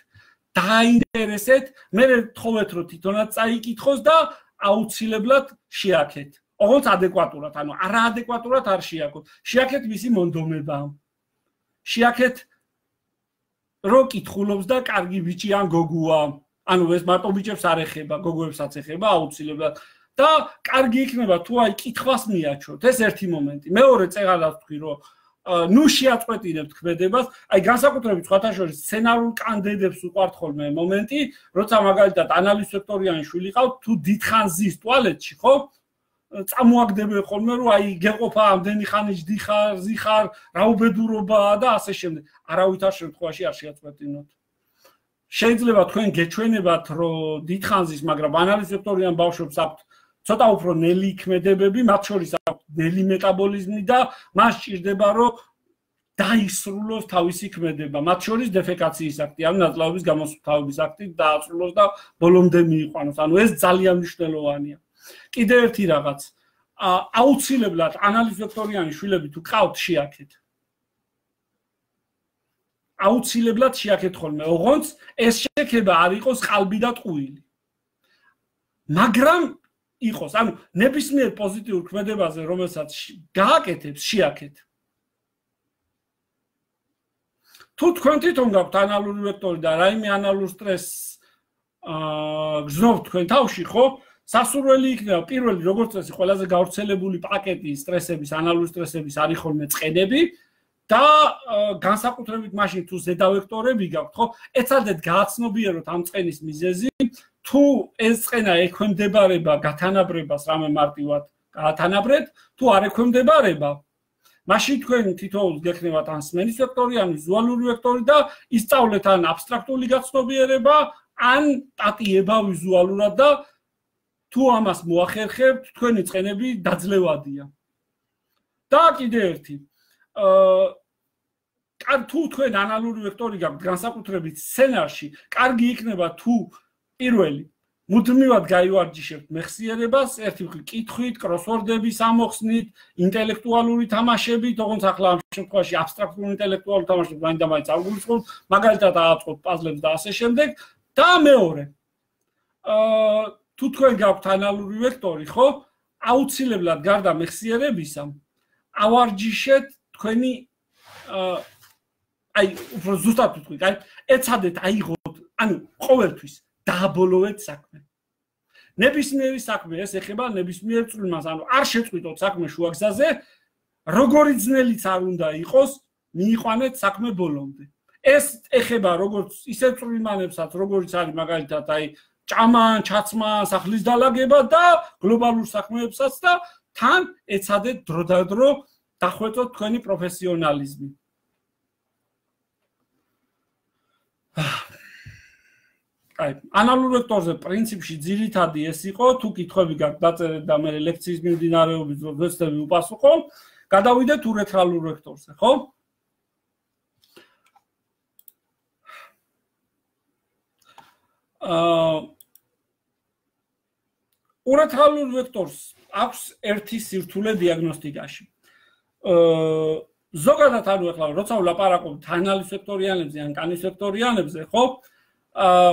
დაინტერესეთ, მე თხოვეთ რომ თვითონაც წაიკითხოს და აუცილებლად შეაქეთ. ოღონდ ადეკვატურად, ანუ არაადეკვატურად არ შეაქოთ. შეაქეთ მისი მონდომება. შეაქეთ რო კითხულობს და კარგი ბიჭი ან გოგოა. ანუ ეს მარტო ბიჭებს არ ეხება, გოგოებსაც ეხება აუცილებლად. და კარგი იქნება თუ აი კითხვას მიაჩვევთ. ეს ერთი მომენტი. მეორე წეღადად ვთქვი რომ ნუ შეაწყვეტინებთ ქმედებას, აი განსაკუთრებით სხვათა შორის სცენარულ კანდიდატებს უყვართ ხოლმე მომენტი, როცა მაგალითად ანალიზ ვექტორიანი შვილი ყავთ, თუ დიდხანს ზის ტუალეტში, ხო? წამოაგდებენ ხოლმე რომ აი გეყოფა ამდენი ხანი ჯდიხარ, ზიხარ, რა უბედურობაა და ასე შემდეგ. არავითარ შემთხვევაში არ შეაწყვეტინოთ. შეიძლება თქვენ გეჩვენებათ რომ დიდხანს ზის, მაგრამ ანალიზ ვექტორიან ბავშვებს აქვთ ცოტა უფრო ნელი ქმედებები, მათ შორის აქვს ნელი მეტაბოლიზმი და მას სჭირდება რომ დაისრულოს თავისი ქმედება, მათ შორის დეფეკაციის აქტი, ანუ ნაწლავების გამოსუფთავების აქტი დაასრულოს და ბოლომდე მიიყვანოს. ანუ ეს ძალიან მნიშვნელოვანია. კიდევ ერთი რაღაც, აუცილებლად ანალიზ ვექტორიანი შვილები თუ ყავთ შეაქეთ. აუცილებლად შეაქეთ ხოლმე, ოღონდ ეს შექება არ იყოს ყალბი და ტყუილი. მაგრამ იყოს, ანუ ნებისმიერ პოზიტიურ ქმედებაზე, რომელსაც გააკეთებს, შეაქეთ. თუ თქვენ თვითონ გაქვთ ანალური ვექტორი და რაიმე ანალურ სტრესს გზნობთ თქვენ თავში, ხო? სასურველი იქნება პირველი, როგორც წესი, ყველაზე გავრცელებული პაკეტი სტრესების, ანალური სტრესების არის ხოლმე წყენები და განსაკუთრებით მაშინ თუ ზედა ვექტორები გაქვთ, ხო? ეცადეთ გააცნობიეროთ ამ წყენის მიზეზი. თუ ეს წყენა ექვემდებარება გათანაბრებას რამე მარტივად გაათანაბრეთ, თუ არ ექვემდებარება, მაშინ თქვენ თითოეულს გექნებათ ან სმენის ვექტორი, ან ვიზუალური ვექტორი და ისწავლეთ ან აბსტრაქტული გაცნობიერება, ან ტატიება ვიზუალურად და თუ ამას მოახერხებთ, თქვენი წყენები დაძლევადია. და კიდევ ერთი, აა თუ თქვენ ანალური ვექტორი გაქვთ განსაკუთრებით სცენარში, კარგი იქნება თუ პირველი მუდმივად გაივარჯიშებთ მეხსიერებას, ერთი მხრივ კითხვით, კროსვორდების ამოხსნით, ინტელექტუალური თამაშებით, ოღონდ ახლა ამ შემთხვევაში აბსტრაქტული ინტელექტუალური თამაშები მაინც და მაინც ავგულისხმობთ, მაგალითად ააწყობთ პაზლებს და ასე შემდეგ. და მეორე, აა თუ თქვენ გაქვთ ანალური ვექტორი, ხო? აუცილებლად გარდა მეხსიერებისა, ავარჯიშეთ თქვენი აა აი უფრო ზუსტად ვთქვი, აი ეცადეთ აიღოთ, ანუ ყოველთვის დააბოლოვეთ საქმე. ნებისმიერი საქმე ეს ეხება ნებისმიერ წვრილმას, ანუ არ შეწყვიტოთ საქმე შუაგზაზე, როგორი ძნელიც არ უნდა იყოს, მიიყვანეთ საქმე ბოლომდე. ეს ეხება როგორც ისე წვრილმანებსაც, როგორიც არის მაგალითად აი ჭამა, ჩაცმა, სახლის დალაგება და გლობალურ საქმეებსაც და თან ეცადეთ დროდადრო დახვეწოთ თქვენი პროფესიონალიზმი. აი, ანალურ ვექტორზე პრინციპში ძირითადი ეს იყო, თუ კითხვები გაქვთ დაწერეთ და მე ლექციის მიმდინარეობის დროს ვეცდები უპასუხო, გადავიდეთ ურეთრალურ ვექტორზე, ხო? აა ურეთრალურ ვექტორს აქვს ერთი სირთულე დიაგნოსტიკაში. აა ზოგადად ანუ ახლა როცა ვლაპარაკობთ ანალიზ ვექტორიანებზე ან კანის ვექტორიანებზე, ხო? აა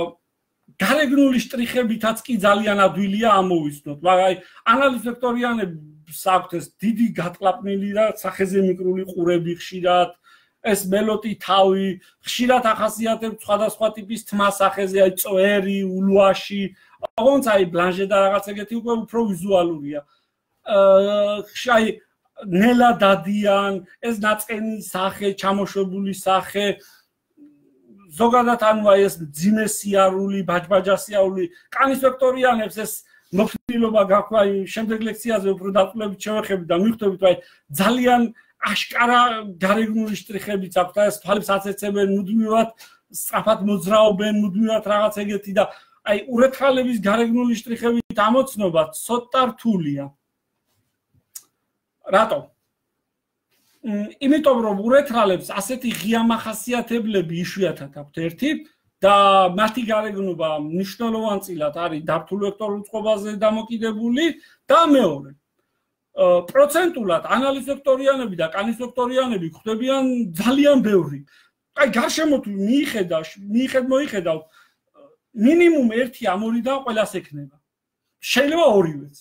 გარეგნული შტრიხებითაც კი ძალიან ადვილია ამოვიცნოთ, მაგრამ ანალიზ ვექტორიანებს აქვთ ეს დიდი გატყლაპნილი და სახეზე მიკრული ყურები ხშირად, ეს მელოტი თავი, ხშირად ახასიათებთ სხვადასხვა ტიპის თმა სახეზე, აი წვერი, ულვაში, ოღონდ აი ბლანჟე და რაღაც ეგეთი უკვე უფრო ვიზუალურია. აა აი ნელა დადიან, ეს ნაწყენი სახე, ჩამოშვებული სახე, ზოგადად ანუ აი ეს ძიმე სიარული, ბაჯბაჯასიარული, კანის ვექტორიანებს ეს მოხდილობა გაქვთ, აი შემდეგ ლექციაზე უფრო დაწვრილებით შევეხებით და მივხვდებით, აი ძალიან აშკარა გარეგნული შტრიხებიც აქვთ, ეს თვალებს აცეცებენ, მუდმივად სწრაფად მოძრაობენ, მუდმივად რაღაც ეგეთი და აი ურეთრალების გარეგნული შტრიხებით ამოცნობა ცოტა რთულია. რატო? იმიტომ რომ ურეთრალებს ასეთი ღია მახასიათებლები იშვიათად აქვთ ერთი და მათი გარეგნობა მნიშვნელოვანწილად არის დაფთულ ვექტორულ წყობაზე დამოკიდებული და მეორე პროცენტულად ანალიზექტორიანები და კანისექტორიანები ხდებიან ძალიან ბევრი. აი გარშემო თუ მიიხედავ, მიიხედ მოიხედავ მინიმუმ ერთი ამ ორიდან ყველას ექნება. შეიძლება ორივეც.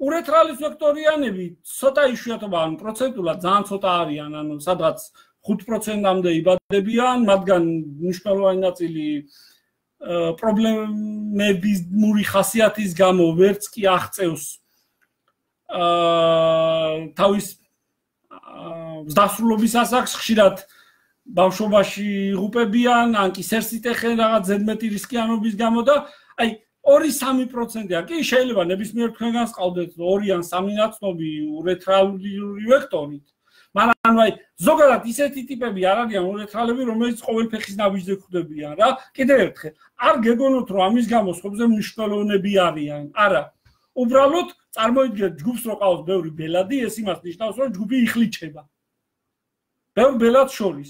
ურეთრალიზექტორიანები ცოტა იშვიათობა, ანუ პროცენტულად ძალიან ცოტა არიან, ანუ სადღაც ხუთ პროცენტამდე იბადებიან, მათგან მნიშვნელოვანი ნაწილი პრობლემების მური ხასიათის გამო ვერც კი აღწევს თავის დასრულობის ასაკს, ხშირად ბავშვობაში იღუპებიან, ან კი სერსიტეხენ რაღაც ზედმეტი რისკიანობის გამო და აი ორი სამი პროცენტია კი შეიძლება ნებისმიერ თქვენგანს ყავდეთ ორი ან სამი ნაცნობი ურეთრალური ვექტორით. მაგრამ აი ზოგადად ისეთი ტიპები არ არიან ურეთრალები, რომელიც ყოველ ფეხის ნაბიჯზე გვხვდებიან რა. კიდევ ერთხელ, არ გეგონოთ რომ ამის გამო სხვებზე მნიშვნელოვნები არიან. არა. უბრალოდ წარმოიდგინეთ ჯგუფს რო ყავს ბევრი ბელადი, ეს იმას ნიშნავს რომ ჯგუფი იხლიჩება. ბევრ ბელადს შორის.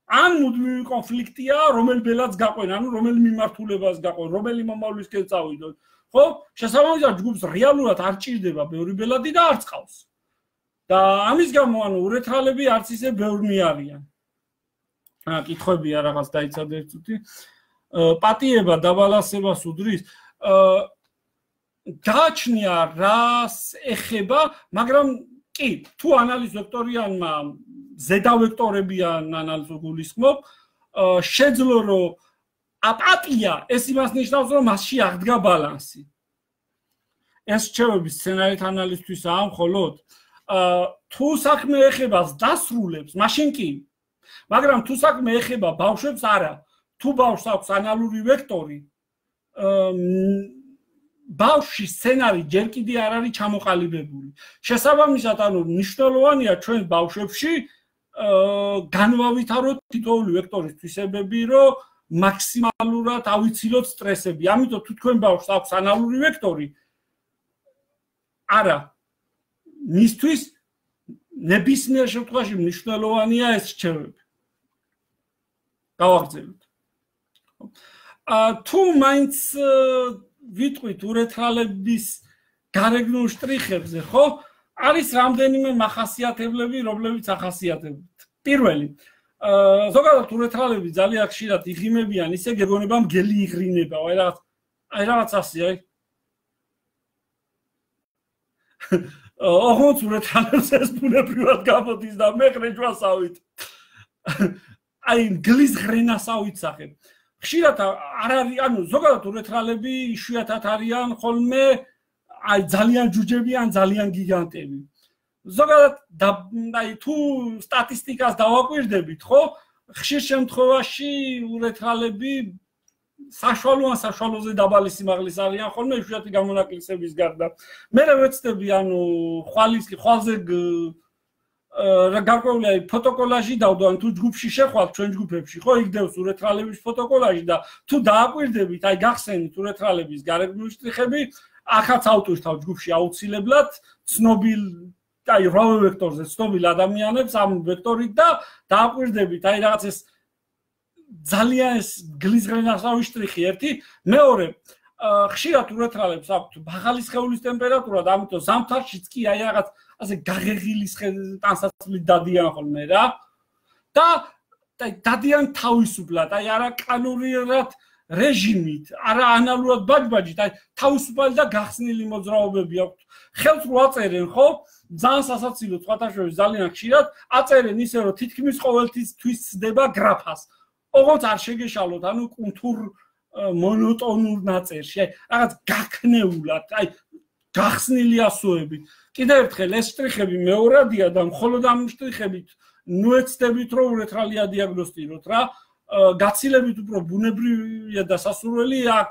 ან მუდმივი კონფლიქტია, რომელ ბელადს გაყვენ, ანუ რომელ მიმართულებას გაყვენ, რომელი მომავლისკენ წავიდონ. ხო? შესაბამისად ჯგუფს რეალურად არ ჭირდება ბევრი ბელადი და არც ყავს. და ამის გამო ანუ ურეთრალები არც ისე ბევრნი არიან. აა კითხვებია რაღაც დაიცადე ერთ წუთი. პატიება დაბალანსებას უდრის. აა გააჩნია რას ეხება, მაგრამ კი, თუ ანალიზექტორიანმა ზედა ვექტორებიან ანალიზო გულისხმობ, შეძლო რომ აპატია ეს იმას ნიშნავს რომ მასში აღდგა ბალანსი. ეს რჩევები სცენარით ანალიზთვისაა მხოლოდ თუ საქმე ეხება დასრულებს, მაშინ კი. მაგრამ თუ საქმე ეხება ბავშვებს არა. თუ ბავშვს აქვს ანალური ვექტორი, ბავშვში სცენარი ჯერ კიდე არ არის ჩამოყალიბებული. შესაბამისად, ანუ მნიშვნელოვანია ჩვენ ბავშვებში განვავითაროთ თითოეული ვექტორის თვისებები, რომ მაქსიმალურად ავიცილოთ სტრესები. ამიტომ თუ თქვენ ბავშვს აქვს ანალური ვექტორი, არა მისთვის ნებისმიერ შემთხვევაში მნიშვნელოვანია ეს რჩევები. გავაგრძელოთ. თუ მაინც ვიტყვით ურეთრალების გარეგნულ შტრიხებზე, ხო? არის რამდენიმე მახასიათებლები, რომლებიც ახასიათებთ. პირველი, ზოგადად ურეთრალები ძალიან ხშირად იღიმებიან, ისე გეგონება მგელი იღრინება, აი რაღაც აი რაღაც ასე, აი. ოღონდ ურეთრალებს ეს ბუნებრივად გამოდის და მე ხრეჯვასავით. აი მგლის ღრენას ავიცახებ. ხშირად არ არის, ანუ ზოგადად ურეთრალები იშვიათად არიან ხოლმე აი ძალიან ჯუჯები ან ძალიან გიგანტები. ზოგადად აი თუ სტატისტიკას დავაკვირდებით, ხო? ხშირ შემთხვევაში ურეთრალები საშუალო ან საშუალოზე დაბალი სიმაღლის არიან ხოლმე იშვიათი გამონაკლისების გარდა. მე ვეცდები, ანუ ხვალის ხვალზე რა გარკვეული აი ფოტოკოლაჟი დავდო, ან თუ ჯგუფში შეხვალთ ჩვენ ჯგუფებში, ხო, იგდევს ურეთრალების ფოტოკოლაჟი და თუ დააკვირდებით, აი გახსენით ურეთრალების გარეგნული შტრიხები, ახაც ავტვირთავ ჯგუფში აუცილებლად ცნობილ აი რვა ვექტორზე ცნობილ ადამიანებს ამ ვექტორით და დააკვირდებით, აი რაღაც ეს ძალიან ეს გლიზღრენასავი შტრიხი ერთი, მეორე ხშირად ურეთრალებს აქვთ მაღალი სხეულის ტემპერატურა და ამიტომ ზამთარშიც კი აი რაღაც ასე გაღეღილი ტანსაცმლით დადიან ხოლმე რა და დადიან თავისუფლად, აი არა კანონიერად რეჟიმით, არა ანალურად ბაჯბაჯით, აი თავისუფალი და გახსნილი მოძრაობები აქვთ. ხელს რო აწერენ, ხო? ძალიან სასაცილო სხვათა შორის ძალიან ხშირად აწერენ ისე რომ თითქმის ყოველთვის ცდება გრაფას. ოღონდ არ შეგეშალოთ, ანუ კუნთურ მონოტონურ ნაწერში, აი რაღაც გაქნეულად, აი გახსნილი ასოებით. კიდევ ერთხელ ეს შტრიხები მეორადია და მხოლოდ ამ შტრიხებით ნუეცდებით რომ ურეთრალია დიაგნოსტიროთ რა. გაცილებით უფრო ბუნებრივია და სასურველი აქ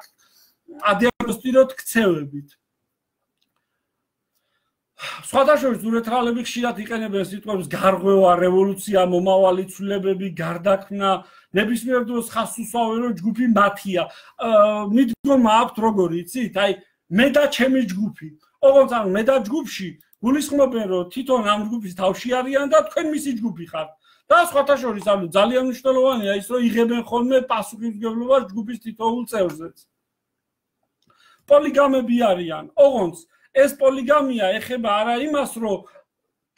ადიაგნოსტიროთ ქცევებით. სხვათა შორის ურეთრალები ხშირად იყენებენ სიტყვებს გარღვევა, რევოლუცია, მომავალი ცვლილებები, გარდაქმნა, ნებისმიერ დროს ხაზს უსვამენ რომ ჯგუფი მათია. მიდგომა აქვთ როგორი იცით? აი მე და ჩემი ჯგუფი. ოღონდ ან მე და ჯგუფში გულისხმობენ რომ თვითონ ამ ჯგუფის თავში არიან და თქვენ მისი ჯგუფი ხართ. და სხვათა შორის ანუ ძალიან მნიშვნელოვანია ის რომ იღებენ ხოლმე პასუხისმგებლობას ჯგუფის თითოეულ წევრზეც. პოლიგამები არიან, ოღონდ ეს პოლიგამია ეხება არა იმას, რომ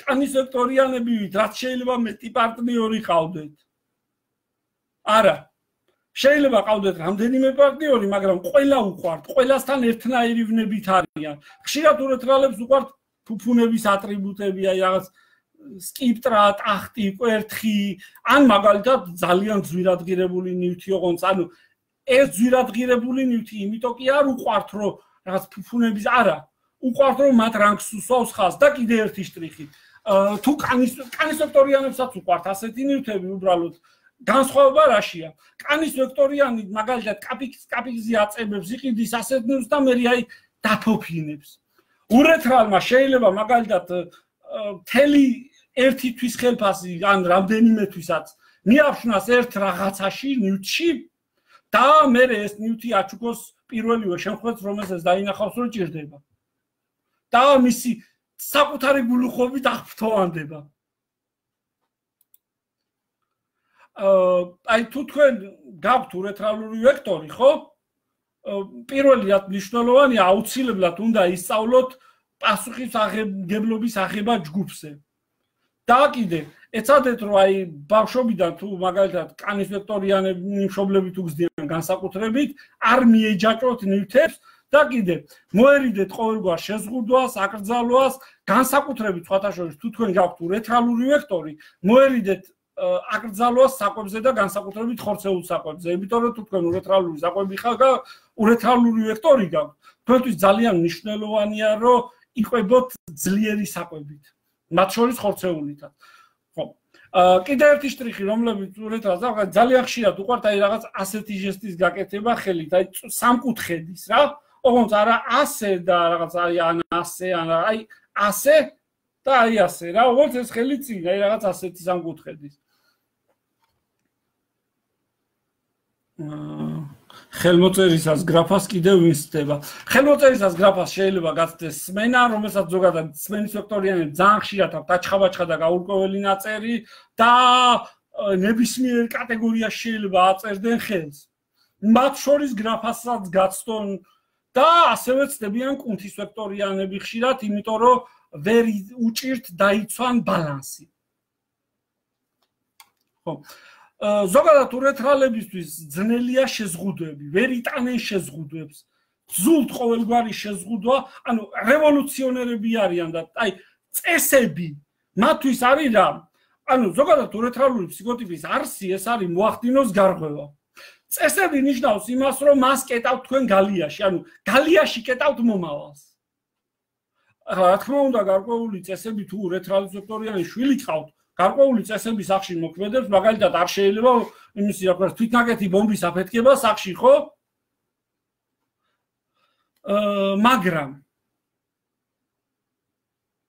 კანის ვექტორიანები ვით, რაც შეიძლება მეტი პარტნიორი ყავდეთ. არა. შეიძლება ყავდეთ რამდენიმე პარტნიორი, მაგრამ ყველა უყვართ, ყველასთან ერთნაირი ვნებით არიან. ხშირად ურეთრალებს უყვართ ფუფუნების ატრიბუტები, აი რაღაც სკიპტრა, ტახტი, კვერთხი, ან მაგალითად ძალიან ძვირადღირებული ნივთი ოღონდ, ანუ ეს ძვირადღირებული ნივთი იმიტომ კი არ უყვართ, რომ რაღაც ფუფუნების არა, უყვართ რომ მათ რანგს უსვავს ხაზს და კიდე ერთი შტრიხი. თუ კანის კანის ვექტორიანებსაც უყვართ ასეთი ნივთები უბრალოდ განსხვავება რაშია? კანის ვექტორიანი მაგალითად კაპიქს კაპიქზე აწებებს, იყიდის ასეთ ნივთს და მე აი დაფოფინებს. ურეთრალმა შეიძლება მაგალითად თელი ერთი თვის ხელფასი ან რამდენიმე თვისაც მიაფშვნას ერთ რაღაცაში ნივთში და მე ეს ნივთი აჩუქოს პირველივე შემთხვევაში რომელსაც დაინახავს რომ ჭირდება. და მისი საკუთარი გულუხობით აღფრთოვანდება. აი თუ თქვენ გაქვთ ურეთრალური ვექტორი, ხო? პირველი რაც მნიშვნელოვანია, აუცილებლად უნდა ისწავლოთ პასუხისმგებლობის აღება ჯგუფზე. და კიდე ეცადეთ რომ აი ბავშვობიდან თუ მაგალითად კანის ვექტორიანები მშობლები თუ გზდიან განსაკუთრებით, არ მიეჯაჭოთ ნივთებს და კიდე მოერიდეთ ყოველგვარ შეზღუდვას, აკრძალვას, განსაკუთრებით სხვათა შორის თუ თქვენ გაქვთ ურეთრალური ვექტორი, მოერიდეთ აკრძალვას საკვებზე და განსაკუთრებით ხორცეულ საკვებზე. იმიტომ რომ თუ თქვენ ურეთრალური საკვები ხართ, ურეთრალური ვექტორი გაქვთ, თქვენთვის ძალიან მნიშვნელოვანია რომ იყვებოთ ძლიერი საკვებით. მათ შორის ხორცეულითაც. ხო. კიდე ერთი შტრიხი, რომლებიც ურეთრალს აქვს, ძალიან ხშირად უყვართ აი რაღაც ასეთი ჟესტის გაკეთება ხელით, აი სამკუთხედის რა. ოღონდ არა ასე და რაღაც აი ან ასე, ან აი ასე და აი ასე რა. ოღონდ ეს ხელი წინ, აი რაღაც ასეთი სამკუთხედის. ხელმოწერისას გრაფას კიდე ვინსდება. ხელმოწერისას გრაფას შეიძლება გაცდეს სმენა, რომელსაც ზოგადად სმენის ვექტორიანები ძალიან ხშირად აქვთ აჩხაბაჩხა და გაურკვეველი ნაწერი და ნებისმიერ კატეგორიაში შეიძლება აწერდნენ ხელს. მათ შორის გრაფასაც გაცდონ და ასევე ცდებიან კუნთის ვექტორიანები ხშირად, იმიტომ რომ ვერ უჭირთ დაიცვან ბალანსი. ხო. ზოგადად ურეთრალებისთვის ძნელია შეზღუდვები, ვერ იტანენ შეზღუდვებს. ძულთ ყოველგვარი შეზღუდვა, ანუ რევოლუციონერები არიან და აი წესები მათთვის არის რა. ანუ ზოგადად ურეთრალური ფსიქოტიპის არსი ეს არის მოახდინოს გარღვევა. წესები ნიშნავს იმას, რომ მას კეტავთ თქვენ გალიაში, ანუ გალიაში კეტავთ მომავალს. ახლა რა თქმა უნდა, გარკვეული წესები თუ ურეთრალის ვექტორიანი შვილი ყავთ, გარკვეული წესები სახში მოქმედებს, მაგალითად არ შეიძლება იმისი რა ქვია თვითნაკეთი ბომბის აფეთქება სახში, ხო? მაგრამ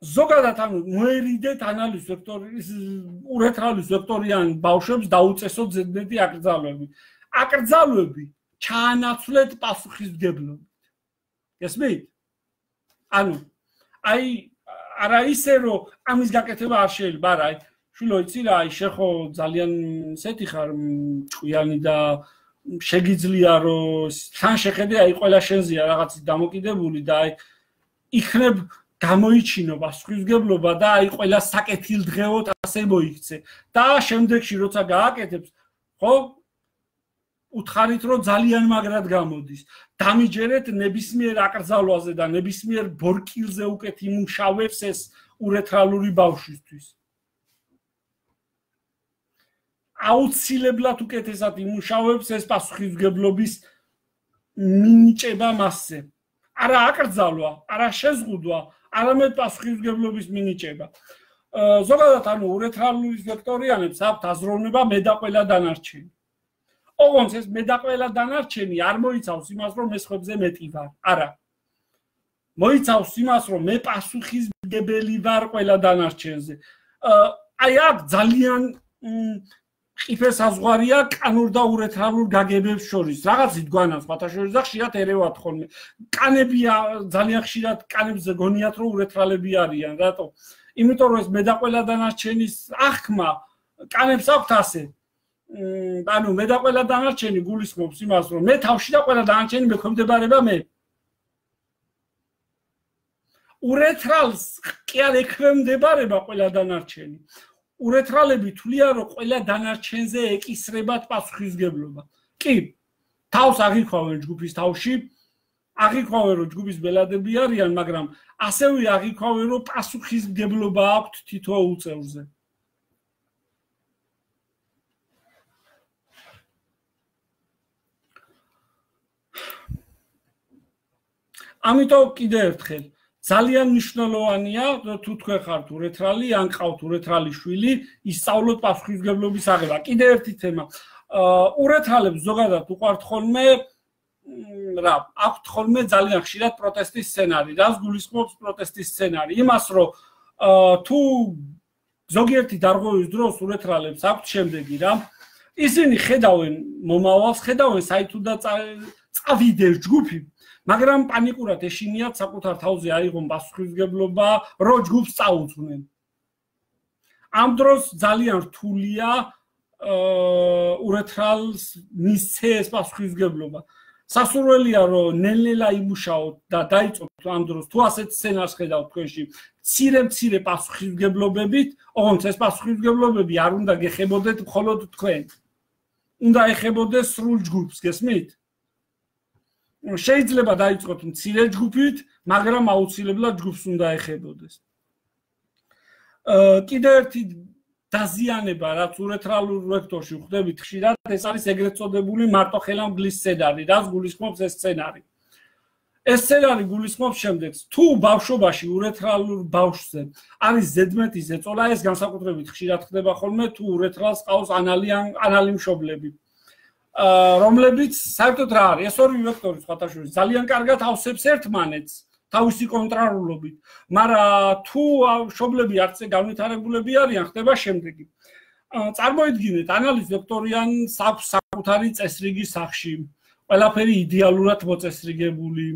ზოგადად ანუ მოერიდეთ ანალის ვექტორის ურეთრალის ვექტორიან ბავშვებს დაუწესოთ ზედმეტი აკრძალვები. აკრძალვები ჩაანაცვლეთ პასუხისმგებლობით. გესმით? ანუ აი არა ისე რომ ამის გაკეთება არ შეიძლება, არა, აი შვილო იცი რა, აი შეხო ძალიან ისეთი ხარ ჭკვიანი და შეგიძლია რომ თან შეხედე აი ყველა შენზეა რაღაცის დამოკიდებული და აი იქნებ გამოიჩინო პასუხისმგებლობა და აი ყველა საკეთილდღეოდ ასე მოიქცე და შემდეგში როცა გააკეთებს, ხო? უთხარით რომ ძალიან მაგრად გამოდის. დამიჯერეთ ნებისმიერ აკრძალვაზე და ნებისმიერ ბორკილზე უკეთ იმუშავებს ეს ურეთრალური ბავშვისთვის. აუცილებლად უკეთესად იმუშავებს ეს პასუხისმგებლობის მინიჭება მასზე. არა აკრძალვა, არა შეზღუდვა, არამედ პასუხისმგებლობის მინიჭება. ზოგადად ანუ ურეთრალური ვექტორიანებს აქვთ აზროვნება მე და ყველა დანარჩენი. ოღონდ ეს მე და ყველა დანარჩენი არ მოიცავს იმას, რომ მე სხვებზე მეტი ვარ. არა. მოიცავს იმას, რომ მე პასუხისმგებელი ვარ ყველა დანარჩენზე. აი აქ ძალიან ყიფე საზღვარია კანურ და ურეთრალურ გაგებებს შორის. რაღაცით გვანავს სხვათა შორის და ხშირად ერევათ ხოლმე. კანები ძალიან ხშირად კანებზე გონიათ, რომ ურეთრალები არიან. რატო? იმიტომ რომ ეს მე და ყველა დანარჩენის აღქმა კანებს აქვთ ასე. ანუ მე და ყველა დანარჩენი გულისხმობს იმას, რომ მე თავში და ყველა დანარჩენი მექვემდებარება მე. ურეთრალს კი არ ექვემდებარება ყველა დანარჩენი. ურეთრალები თვლიან, რომ ყველა დანარჩენზე ეკისრებათ პასუხისმგებლობა. კი, თავს აღიქვავენ ჯგუფის თავში, აღიქვავენ, რომ ჯგუფის ბელადები არიან, მაგრამ ასევე აღიქვავენ, რომ პასუხისმგებლობა აქვთ თითოეულ წევრზე. ამიტომ კიდევ ერთხელ ძალიან მნიშვნელოვანია, თუ თქვენ ხართ ურეთრალი, ან ყავთ ურეთრალი შვილი, ისწავლოთ პასუხისმგებლობის აღება. კიდევ ერთი თემა. ურეთრალებს ზოგადად უყვართ ხოლმე რა, აქვთ ხოლმე ძალიან ხშირად პროტესტის სცენარი. რას გულისხმობს პროტესტის სცენარი? იმას, რომ თუ ზოგიერთი დარღვევის დროს ურეთრალებს აქვთ შემდეგი რა, ისინი ხედავენ მომავალს, ხედავენ საით უნდა წავიდეს ჯგუფი, მაგრამ პანიკურად ეშინიათ საკუთარ თავზე აიღონ პასუხისმგებლობა, რომ ჯგუფს წაუწვნენ. ამ დროს ძალიან რთულია ურეთრალს მისცეს პასუხისმგებლობა. სასურველია, რომ ნელ-ნელა იმუშაოთ და დაიწყოთ ამ დროს, თუ ასეთ სცენარს ხედავთ თქვენში, მცირე-მცირე პასუხისმგებლობებით, ოღონდ ეს პასუხისმგებლობები არ უნდა გეხებოდეთ მხოლოდ თქვენ. უნდა ეხებოდეს სრულ ჯგუფს, გესმით? შეიძლება დაიწყოთ მცირე ჯგუფით, მაგრამ აუცილებლად ჯგუფს უნდა ეხებოდეს. კიდევ ერთი დაზიანება, რაც ურეთრალურ ვექტორში ვხვდებით ხშირად, ეს არის ეგრეთ წოდებული მარტოხელამგლის სცენარი, რაც გულისხმობს ეს სცენარი. ეს სცენარი გულისხმობს შემდეგს, თუ ბავშვობაში ურეთრალურ ბავშვზე არის ზედმეტი ზეწოლა, ეს განსაკუთრებით ხშირად ხდება ხოლმე, თუ ურეთრალს ყავს ანალი მშობლები. რომლებიც საერთოდ რა არის, ეს ორი ვექტორი სხვათაშორის ძალიან კარგად ავსებს ერთმანეთს თავისი კონტრარულობით, მაგრამ თუ მშობლები არც განვითარებულები არიან, ხდება შემდეგი. წარმოიდგინეთ, ანალის ვექტორიანს აქვს საკუთარი წესრიგი სახში, ყველაფერი იდეალურად მოწესრიგებული,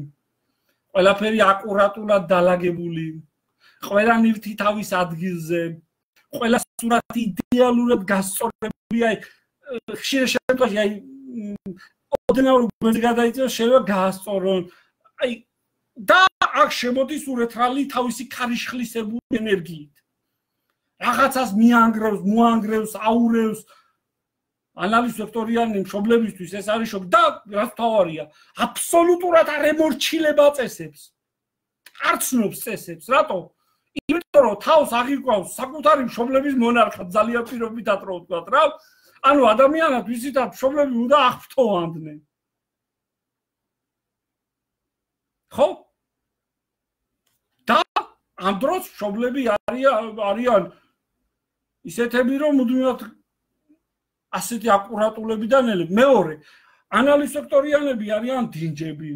ყველაფერი აკურატულად დალაგებული, ყველა ნივთი თავის ადგილზე, ყველა სურათი იდეალურად გასწორებული, აი ხშირ შემთხვევაში აი ოდნავ გვერდზე გადაიწევს შეიძლება გაასწორონ. აი და აქ შემოდის ურეთრალი თავისი ქარიშხლისებური ენერგიით. რაღაცას მიანგრევს, მოანგრევს, აურევს. ანალის ვექტორიანი მშობლებისთვის ეს არის შოკი და რაც თავარია, აბსოლუტურად არ ემორჩილება წესებს. არ ცნობს წესებს, რატო? იმიტომ რომ თავს აღიქვავს საკუთარი მშობლების მონარქად ძალიან პირობითად რო ვთქვათ რა. ანუ ადამიანად ვიზითად მშობლები უნდა აღფრთოვანდნენ. ხო? და ამ დროს მშობლები არიან ისეთები, რომ მუდმივად ასეთი აკურატულები და ნელები. მეორე, ანალის ვექტორიანები არიან დინჯები.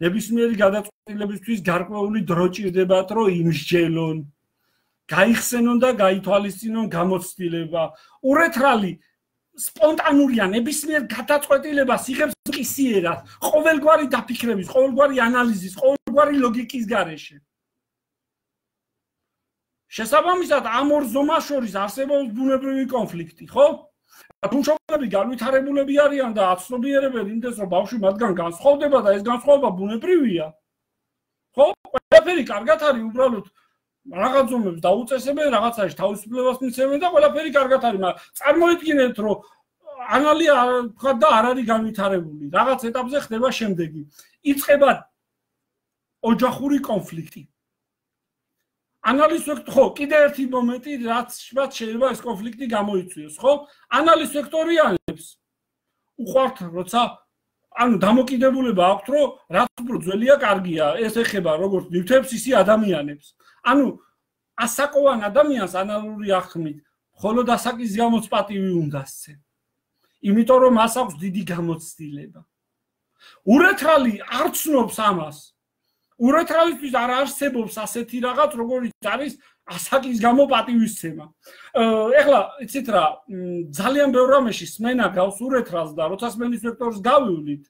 ნებისმიერი გადაწყვეტილებისთვის გარკვეული დრო ჭირდებათ, რომ იმსჯელონ, გაიხსენონ და გაითვალისწინონ გამოცდილება. ურეთრალი სპონტანურია, ნებისმიერ გადაწყვეტილებას იღებს მყისიერად, ყოველგვარი დაფიქრების, ყოველგვარი ანალიზის, ყოველგვარი ლოგიკის გარეშე. შესაბამისად, ამ ორ ზომას შორის არსებობს ბუნებრივი კონფლიქტი, ხო? თუ მშობლები განვითარებულები არიან და აცნობიერებენ იმდეს, რომ ბავშვი მათგან განსხვავდება და ეს განსხვავება ბუნებრივია, ხო? ყველაფერი კარგად არის, უბრალოდ რაღაც ზომებს დაუწესებენ, რაღაცაში თავისუფლებას მიცემენ და ყველაფერი კარგად არის, მაგრამ წარმოიდგინეთ, რომ ანალი თქვა და არ არის განვითარებული, რაღაც ეტაპზე ხდება შემდეგი. იწყება ოჯახური კონფლიქტი. ანალის ვექტორი, ხო, კიდე ერთი მომენტი, რაც შფათ შეიძლება ეს კონფლიქტი გამოიწვიოს, ხო? ანალის ვექტორიანებს უყვართ, როცა ანუ დამოკიდებულება აქვთ, რომ რაც უფრო ძველია, კარგია, ეს ეხება როგორც ნივთებს, ისე ადამიანებს. ანუ ასაკოვან ადამიანს ანალური ახმით, მხოლოდ ასაკის გამოც პატივი უნდა სცენ. იმიტომ რომ მას აქვს დიდი გამოცდილება. ურეთრალი არ ცნობს ამას. ურეთრალისთვის არ არსებობს ასეთი რაღაც, როგორც არის ასაკის გამო პატივისცემა. ეხლა, იცით რა, ძალიან ბევრ რამეში სმენა გავს ურეთრალს და როცა სმენის ვექტორს გავივლით,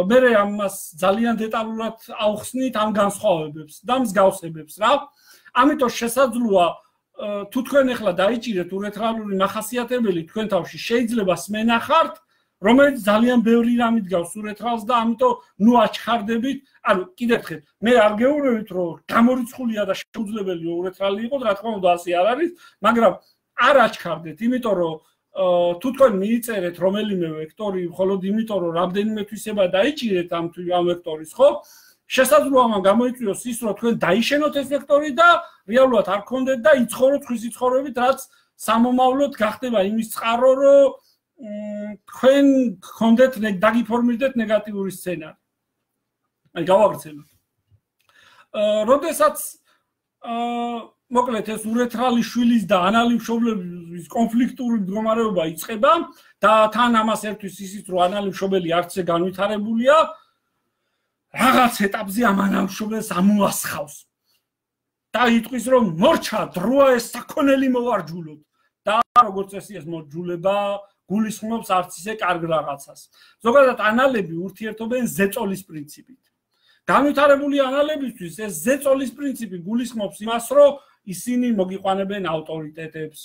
მე ამას ძალიან დეტალურად ავხსნით ამ განსხვავებებს და მსგავსებებს რა. ამიტომ შესაძლოა თუ თქვენ ეხლა დაიჭირეთ ურეთრალური მახასიათებელი თქვენ თავში შეიძლება სმენა ხართ, რომელიც ძალიან ბევრი რამით გავს ურეთრალს და ამიტომ ნუ აჩხარდებით. ანუ კიდევ ერთხელ მე არ გეუბნებით რომ გამორიცხულია და შეუძლებელი ურეთრალი იყოს, რა თქმა უნდა ასე არ არის, მაგრამ არ აჩქარდეთ, იმიტომ რომ თუ თქვენ მიიწერეთ რომელიმე ვექტორი, მხოლოდ იმიტომ რომ რამდენიმე თვისება დაიჭირეთ ამ ამ ვექტორის, ხო? შესაძლოა მან გამოიწვიოს ის, რომ თქვენ დაიშენოთ ეს ვექტორი და რეალურად არ გქონდეთ და იცხოვროთ ხვის იცხოვრებით, რაც სამომავლოდ გახდება იმის წყარო, რომ თქვენ გქონდეთ დაგიფორმირდეთ ნეგატიური სცენარი. აი გავაგრძელოთ. აა, როდესაც აა მოკლედ ეს ურეთრალი შვილის და ანალი მშობლების კონფლიქტური მდგომარეობა იწყება და თან ამას ერთვის ისიც რომ ანალი მშობელი არცე განვითარებულია რაღაც ეტაპზე ამ ანალი მშობელს ამოასხავს და იტყვის რომ მორჩა დროა ეს საქონელი მოვარჯულოთ და როგორც წესი ეს მოჯულება გულისხმობს არც ისე კარგ რაღაცას ზოგადად ანალები ურთიერთობენ ზეწოლის პრინციპით განვითარებული ანალებისთვის ეს ზეწოლის პრინციპი გულისხმობს იმას რომ ისინი მოგიყვანებენ ავტორიტეტებს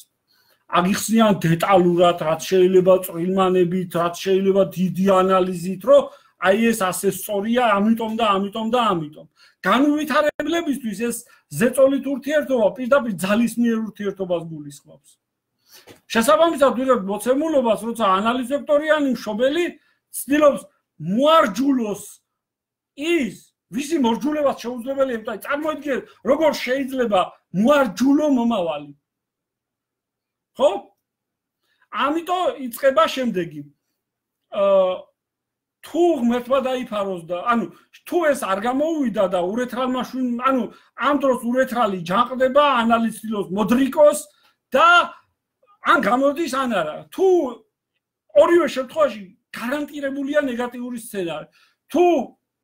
აგიხსნიან დეტალურად რაც შეიძლება წვრილმანებით რაც შეიძლება დიდი ანალიზით რომ აი ეს ასე სწორია ამიტომ და ამიტომ და ამიტომ განვითარებლებისთვის ეს ზეწოლით ურთიერთობა პირდაპირ ძალისმიერ ურთიერთობას გულისხმობს შესაბამისად ვიღებ მოცემულობას როცა ანალის ვექტორიანი მშობელი ცდილობს მოარჯულოს ის ვისი მორჯულებას შეუძლებელია იმიტომ წარმოიდგინეთ როგორ შეიძლება მოარჯულო მომავალი ხო ამიტომ იწყება შემდეგი აა თუ ღმერთმა დაიფაროს და ანუ თუ ეს არ გამოუვიდა და ურეთრალმა ანუ ამ დროს ურეთრალი ჯანყდება ანალის ცდილობს მოდრიკოს და ან გამოდის ან არა თუ ორივე შემთხვევაში გარანტირებულია ნეგატიური სცენარი თუ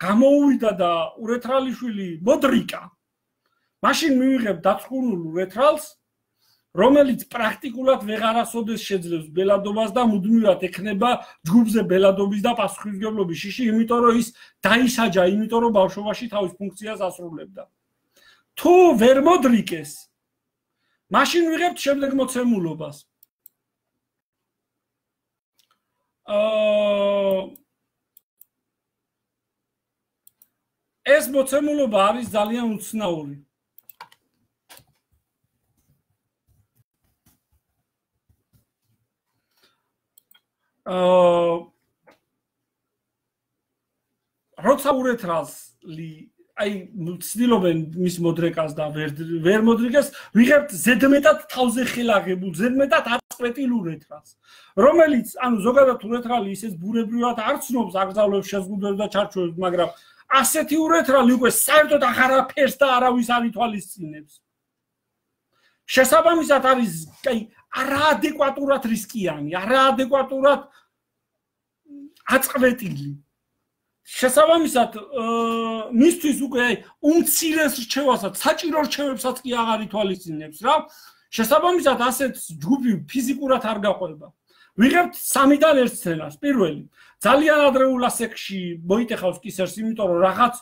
გამოუვიდა და ურეთრალიშვილი მოდრიკა მაშინ მივიღებ დაწყურულ ურეთრალს რომელიც პრაქტიკულად ვეღარასოდეს შეძლებს ბელადობას და მუდმივად ექნება ჯგუფზე ბელადობის და პასუხისმგებლობის შიში იმიტომ რომ ის დაისაჯა იმიტომ რომ ბავშვობაში თავის ფუნქციას ასრულებდა თუ ვერ მოდრიკეს მაშინ ვიღებთ შემდეგ მოცემულობას აა ეს მოცემულობა არის ძალიან უცნაური. აა როცა ურეთრალი აი ცდილობენ მის მოდრეკას და ვერ ვერ მოდრიკეს ვიღებთ ზედმეტად თავზე ხელაღებულ ზედმეტად აწყვეტილ ურეთრალს რომელიც ანუ ზოგადად ურეთრალი ისეთ ბუნებრივად არ ცნობს აკრძალვებს შეზღუდვებს და ჩარჩოებს მაგრამ ასეთი ურეთრალი უკვე საერთოდ აღარაფერს და არავის არ ითვალისწინებს. შესაბამისად არის აი არაადეკვატურად რისკიანი, არაადეკვატურად აწყვეტილი. შესაბამისად მისთვის უკვე აი უმცირეს რჩევასაც, საჭირო რჩევებსაც კი აღარ ითვალისწინებს რა. შესაბამისად ასეთ ჯგუფი ფიზიკურად არ გაყვება. ვიღებთ სამიდან ერთ სცენას. პირველი ძალიან ადრეულ ასაკში მოიტეხავს კისერს, იმიტომ რომ რაღაც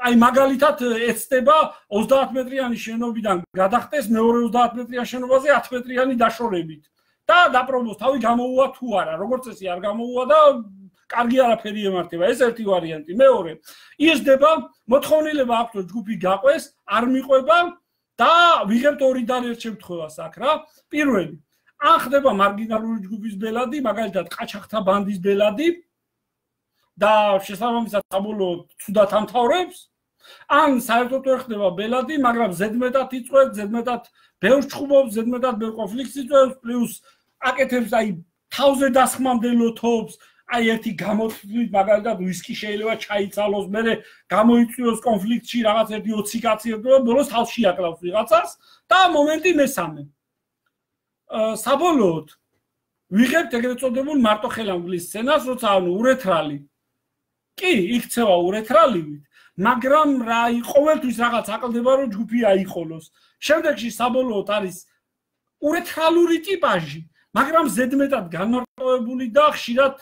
აი მაგალითად ეცდება ოცდაათ მეტრიანი შენობიდან გადახტეს მეორე ოცდაათ მეტრიან შენობაზე ათ მეტრიანი დაშორებით და დაპრობოს თავი გამოუვა თუ არა, როგორც წესი არ გამოუვა და კარგი არაფერი ემართება. ეს ერთი ვარიანტი. მეორე იზრდება, მოთხოვნილება აქვს რომ ჯგუფი გაყვეს, არ მიყვება და ვიღებთ ორიდან ერთ შემთხვევას აქ რა. პირველი ან ხდება მარგინალური ჯგუფის ბელადი, მაგალითად ყაჩაღთა ბანდის ბელადი და შესაბამისად საბოლოოდ ცუდად ამთავრებს, ან საერთოდ ვერ ხდება ბელადი, მაგრამ ზედმეტად იწვევს, ზედმეტად ბევრ ჩხუბობს, ზედმეტად ბევრ კონფლიქტს იწვევს, პლუს აკეთებს აი თავზე დასხმამდელო თობს, აი ერთი გამოთვლით მაგალითად ვისკი შეიძლება ჩაიცალოს, მერე გამოიწვიოს კონფლიქტში რაღაც ერთი ოცი კაცი ერთობა, ბოლოს თავში აკლავს ვიღაცას და მომენტი მესამე საბოლოოდ ვიღებთ ეგრეთ წოდებულ მარტოხელამგლის სცენას, როცა ანუ ურეთრალი კი იქცევა ურეთრალივით, მაგრამ რა ყოველთვის რაღაც აკლდება რომ ჯგუფი აიყოლოს. შემდეგში საბოლოოდ არის ურეთრალური ტიპაჟი, მაგრამ ზედმეტად განმარტოვებული და ხშირად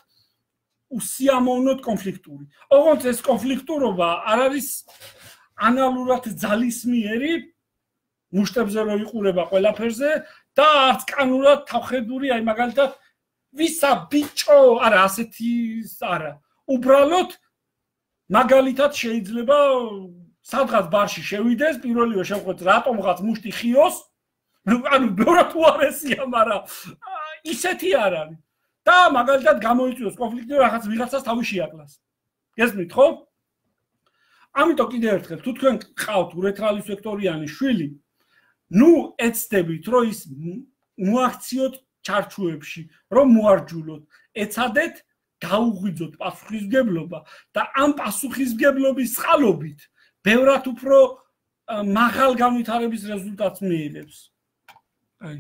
უსიამოვნოდ კონფლიქტური. ოღონდ ეს კონფლიქტურობა არ არის ანალურად ძალისმიერი, მუშტებზე რო იყურება ყველაფერზე და არც კანურად თავხედური, აი მაგალითად ვისა ბიჭო, არა ასეთი არა. უბრალოდ მაგალითად შეიძლება სადღაც ბარში შევიდეს, პირველივე შევხვდეთ რატომღაც მუშტი ხიოს, ანუ ბევრად უარესია, მაგრამ ისეთი არ არის. და მაგალითად გამოიწვიოს კონფლიქტი, რაღაც ვიღაცას თავი შეაკლას. გესმით, ხო? ამიტომ კიდევ ერთხელ, თუ თქვენ გყავთ ურეთრალის ვექტორიანი შვილი, ნუ ეცდებით, რომ ის მოაქციოთ ჩარჩოებში, რომ მოარჯულოთ, ეცადეთ გაუღვიძოთ პასუხისმგებლობა და ამ პასუხისმგებლობის წყალობით ბევრად უფრო მაღალ განვითარების რეზულტატს მიიღებს. აი,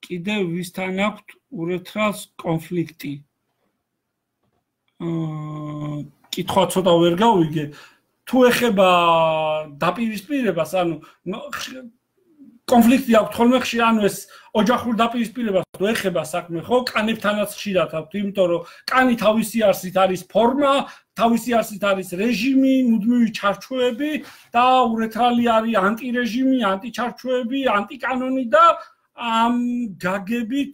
კიდევ ვისთან აქვთ ურეთრალს კონფლიქტი? აა, კითხვა ცოტა ვერ გავიგე. თუ ეხება დაპირისპირებას, ანუ კონფლიქტი აქვს ხოლმე ხშირ, ანუ ეს ოჯახურ დაპირისპირებას თუ ეხება საქმე, ხო, კანებთანაც ხშირად აქვს, იმიტომ რომ კანი თავისი არსით არის ფორმა, თავისი არსით არის რეჟიმი, მუდმივი ჩარჩოები და ურეთრალი არის ანტირეჟიმი, ანტიჩარჩოები, ანტიკანონი და ამ გაგებით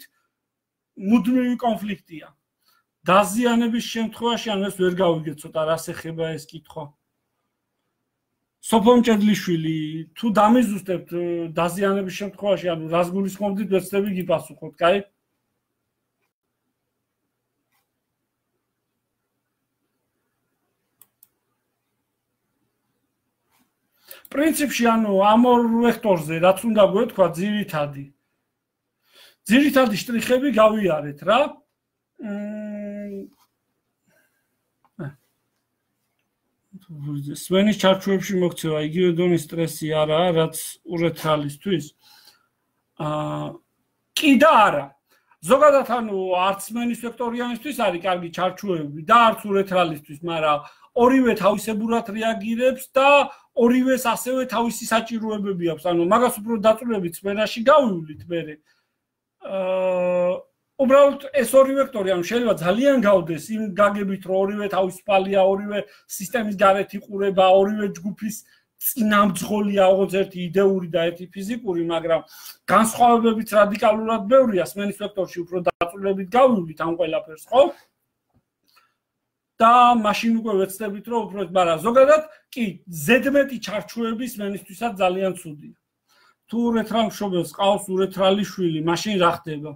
მუდმივი კონფლიქტია. დაზიანების შემთხვევაში ან ეს ვერ გავიგეთ ცოტა რას ეხება ეს კითხვა. სოფო მჭედლიშვილი, თუ დამიზუსტებთ დაზიანების შემთხვევაში, ანუ რას გულისხმობდით, ვეცდები გიპასუხოთ, კაი? პრინციპში, ანუ ამ ორ ვექტორზე, რაც უნდა გვეთქვა ძირითადი. ძირითადი შტრიხები გავიარეთ რა. სვენის ჩარჩოებში მოქცევა იგივე დონის სტრესი არაა, რაც ურეთრალისთვის. აა კი და არა. ზოგადად ანუ არც სვენის ვექტორიანისთვის არის კარგი ჩარჩოები და არც ურეთრალისთვის, მაგრამ ორივე თავისებურად რეაგირებს და ორივეს ასევე თავისი საჭიროებები აქვს. ანუ მაგას უფრო დაწვრილებით სვენაში გავივლით მერე. აა უბრალოდ ეს ორი ვექტორი, ანუ შეიძლება ძალიან გავდეს იმ გაგებით, რომ ორივე თავისუფალია, ორივე სისტემის გარეთ იყურება, ორივე ჯგუფის წინამძღოლია, როგორც ერთი იდეური და ერთი ფიზიკური, მაგრამ განსხვავებებიც რადიკალურად ბევრია, სმენის ვექტორში უფრო დაწვრილებით გავივლით ამ ყველაფერს, ხო? და მაშინ უკვე ვეცდებით, რომ უფრო, მაგრამ ზოგადად კი, ზედმეტი ჩარჩოები სმენისთვისაც ძალიან ცუდია. თუ ურეთრალ მშობელს ყავს ურეთრალი შვილი, მაშინ რა ხდება?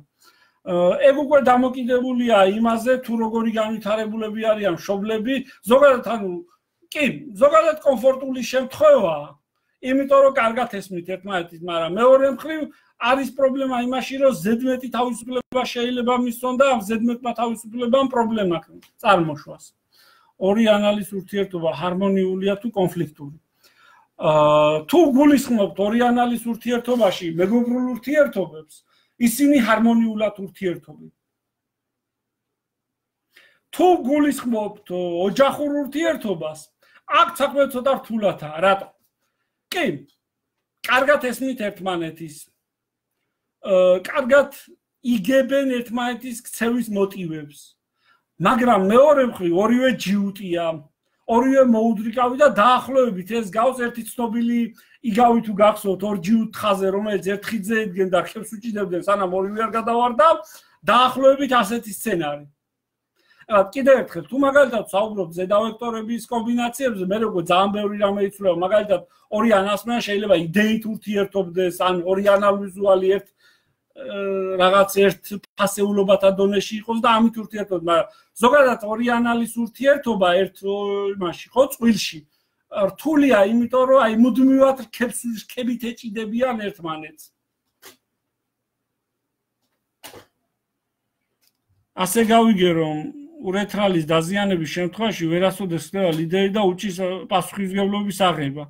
ეგ უკვე დამოკიდებულია იმაზე, თუ როგორი განვითარებულები არიან მშობლები, ზოგადად ანუ კი, ზოგადად კომფორტული შემთხვევაა, იმიტომ რომ კარგად ესმით ერთმანეთის, მაგრამ მეორე მხრივ არის პრობლემა იმაში, რომ ზედმეტი თავისუფლება შეიძლება მისცონ და ამ ზედმეტმა თავისუფლებამ პრობლემა წარმოშვას. ორი ანალის ურთიერთობა ჰარმონიულია თუ კონფლიქტური. აა თუ გულისხმობთ ორი ანალის ურთიერთობაში მეგობრულ ურთიერთობებს, ისინი ჰარმონიულად ურთიერთობენ. თუ გულისხმობთ ოჯახურ ურთიერთობას, აქ საქმე ცოტა რთულადაა, რატო? კი, კარგად ესმით ერთმანეთის. აა კარგად იგებენ ერთმანეთის ქცევის მოტივებს. მაგრამ მეორე მხრივ ორივე ჯიუტია, ორივე მოუდრიკავი და დაახლოებით ეს გავს ერთი ცნობილი იგავი თუ გახსოვთ ორ ჯიუტ ხაზე, რომელიც ერთ ხიდზე ედგენ და ხებს უჭიდებდნენ, სანამ ორივე არ გადავარდა, დაახლოებით ასეთი სცენარი. კიდევ ერთხელ, თუ მაგალითად საუბრობთ ზედავექტორების კომბინაციებზე, მე როგორ ძალიან ბევრი რამე იცვლება, მაგალითად ორი ანალიზმან შეიძლება იდეით ურთიერთობდეს, ან ორი ანალიზუალი ერთ რაღაც ერთ ფასეულობათა დონეში იყოს და ამით ურთიერთობდეს, მაგრამ ზოგადად ორი ანალის ურთიერთობა ერთ იმაში, ხო, წყვილში რთულია, იმიტომ რომ აი მუდმივად რქებს რქებით ეჭიდებიან ერთმანეთს. ასე გავიგე, რომ ურეთრალის დაზიანების შემთხვევაში ვერასოდეს ხდება ლიდერი და უჭის პასუხისმგებლობის აღება.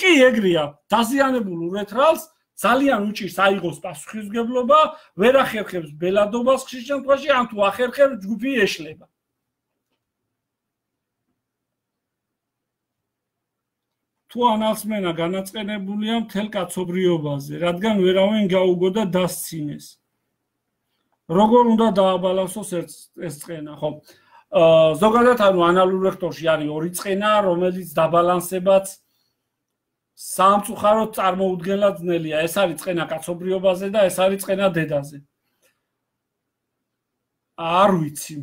კი, ეგრეა, დაზიანებულ ურეთრალს ძალიან უჭირს აიღოს პასუხისმგებლობა, ვერ ახერხებს ბელადობას ხშირ შემთხვევაში, ან თუ ახერხებს ჯგუფი ეშლება. თუ ანალსმენა განაწყენებულია მთელ კაცობრიობაზე, რადგან ვერავინ გაუგო და დასცინეს. როგორ უნდა დააბალანსოს ეს წყენა, ხო? აა ზოგადად ანუ ანალურ ვექტორში არის ორი წყენა, რომელიც დაბალანსებაც სამწუხაროდ წარმოუდგენლად ძნელია. ეს არის წყენა კაცობრიობაზე და ეს არის წყენა დედაზე. არ ვიცი.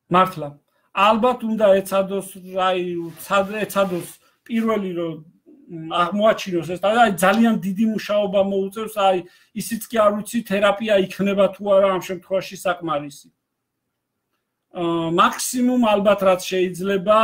მართლა. ალბათ უნდა ეცადოს რაი ეცადოს პირველი რომ აღმოაჩინოს ეს და აი ძალიან დიდი მუშაობა მოუწევს აი ისიც კი არ ვიცი თერაპია იქნება თუ არა ამ შემთხვევაში საკმარისი. აა მაქსიმუმ ალბათ რაც შეიძლება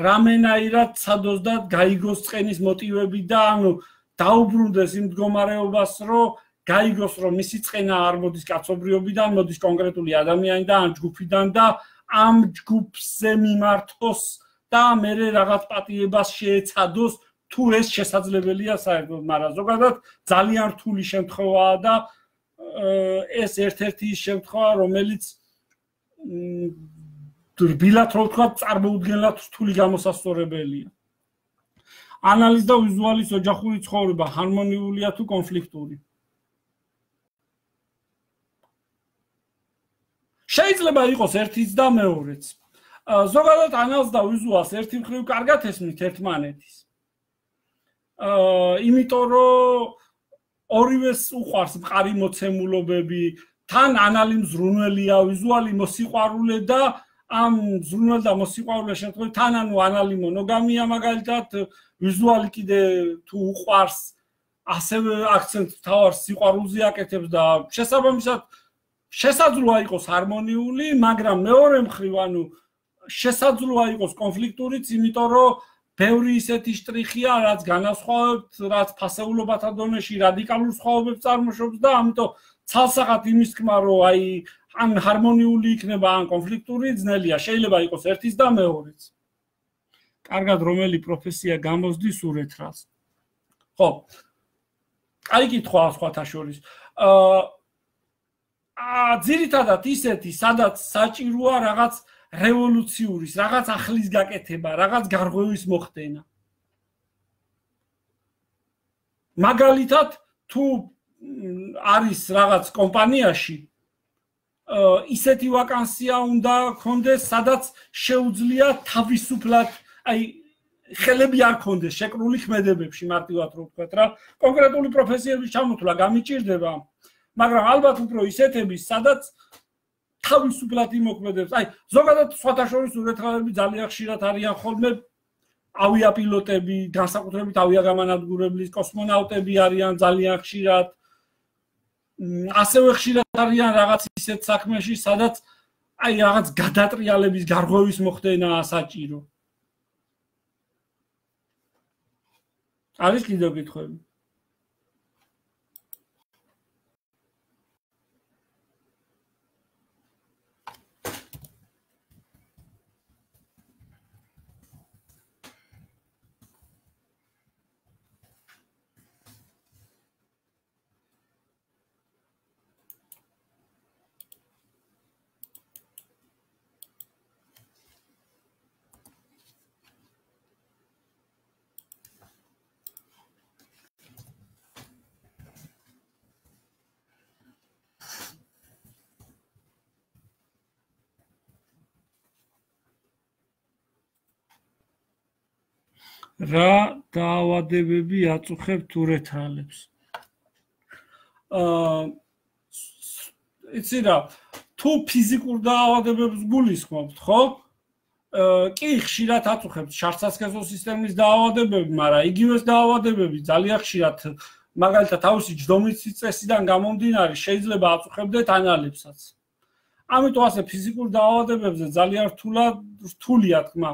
რამენაირად ცადოს და გაიგოს წყენის მოტივები და ანუ დაუბრუნდეს იმ მდგომარეობას რომ გაიგოს რომ მისი წყენა არ მოდის კაცობრიობიდან, მოდის კონკრეტული ადამიანიდან, ან ჯგუფიდან და ამ ჯგუფზე მიმართოს და მერე რაღაც პატიებას შეეცადოს თუ ეს შესაძლებელია საერთოდ, მაგრამ ზოგადად ძალიან რთული შემთხვევაა და ეს ერთ-ერთი ის შემთხვევა, რომელიც რბილად რო ვთქვა, წარმოუდგენლად რთული გამოსასწორებელია. ანალიზ და ვიზუალის ოჯახური ცხოვრება ჰარმონიულია თუ კონფლიქტური? შეიძლება იყოს ერთიც და მეორეც. ზოგადად ანალიზს და ვიზუალს ერთი მხრივ კარგად ესმით ერთმანეთის. აა იმიტომ რომ ორივეს უყვარს მყარი მოცემულობები, თან ანალი მზრუნველია, ვიზუალი მოსიყვარულე და ამ მზრუნველ და მოსიყვარულე შემთხვევაში თან ანუ ანალი მონოგამია მაგალითად, ვიზუალი კიდე თუ უყვარს, ასევე აქცენტს თავარს სიყვარულზე აკეთებს და შესაბამისად შესაძლოა იყოს ჰარმონიული, მაგრამ მეორე მხრივ ანუ შესაძლოა იყოს კონფლიქტურიც, იმიტომ რომ ბევრი ისეთი შტრიხია, რაც განასხვავებთ, რაც ფასეულობათა დონეში რადიკალურ სხვაობებს წარმოშობს და ამიტომ ცალსახად იმის თქმა, რომ აი ან ჰარმონიული იქნება, ან კონფლიქტური ძნელია, შეიძლება იყოს ერთიც და მეორეც. კარგად რომელი პროფესია გამოსდის ურეთრალს? ხო. აი კითხვა სხვათა შორის. აა ძირითადად ისეთი, სადაც საჭიროა რაღაც რევოლუციური, რაღაც ახლის გაკეთება, რაღაც გარღვევის მოხდენა. მაგალითად, თუ არის რაღაც კომპანიაში ისეთი ვაკანსია უნდა ქონდეს, სადაც შეუძლია თავისუფლად, აი ხელები არ ქონდეს შეკრული ქმედებებში, მარტივად რო ვთქვათ რა, კონკრეტული პროფესიების ჩამოთვლა გამიჭირდება, მაგრამ ალბათ უფრო ისეთების, სადაც თავისუფლად იმოქმედებს. აი, ზოგადად სხვათა შორის ურეთრალები ძალიან ხშირად არიან ხოლმე ავიაპილოტები, განსაკუთრებით ავიაგამანადგურებლის კოსმონავტები არიან ძალიან ხშირად. ასევე ხშირად არიან რაღაც ისეთ საქმეში, სადაც აი რაღაც გადატრიალების გარღვევის მოხდენაა საჭირო. არის კიდევ კითხვები? რა დაავადებები აწუხებთ ურეთრალებს? აა იცი რა, თუ ფიზიკურ დაავადებებს გულისხმობთ, ხო? კი, ხშირად აწუხებთ შარდსასქესო სისტემის დაავადებები, მაგრამ იგივე დაავადებები ძალიან ხშირად, მაგალითად, თავისი ჯდომის წესიდან გამომდინარე, შეიძლება აწუხებდეთ ანალებსაც. ამიტომ ასე ფიზიკურ დაავადებებზე ძალიან რთულად რთულია თქმა.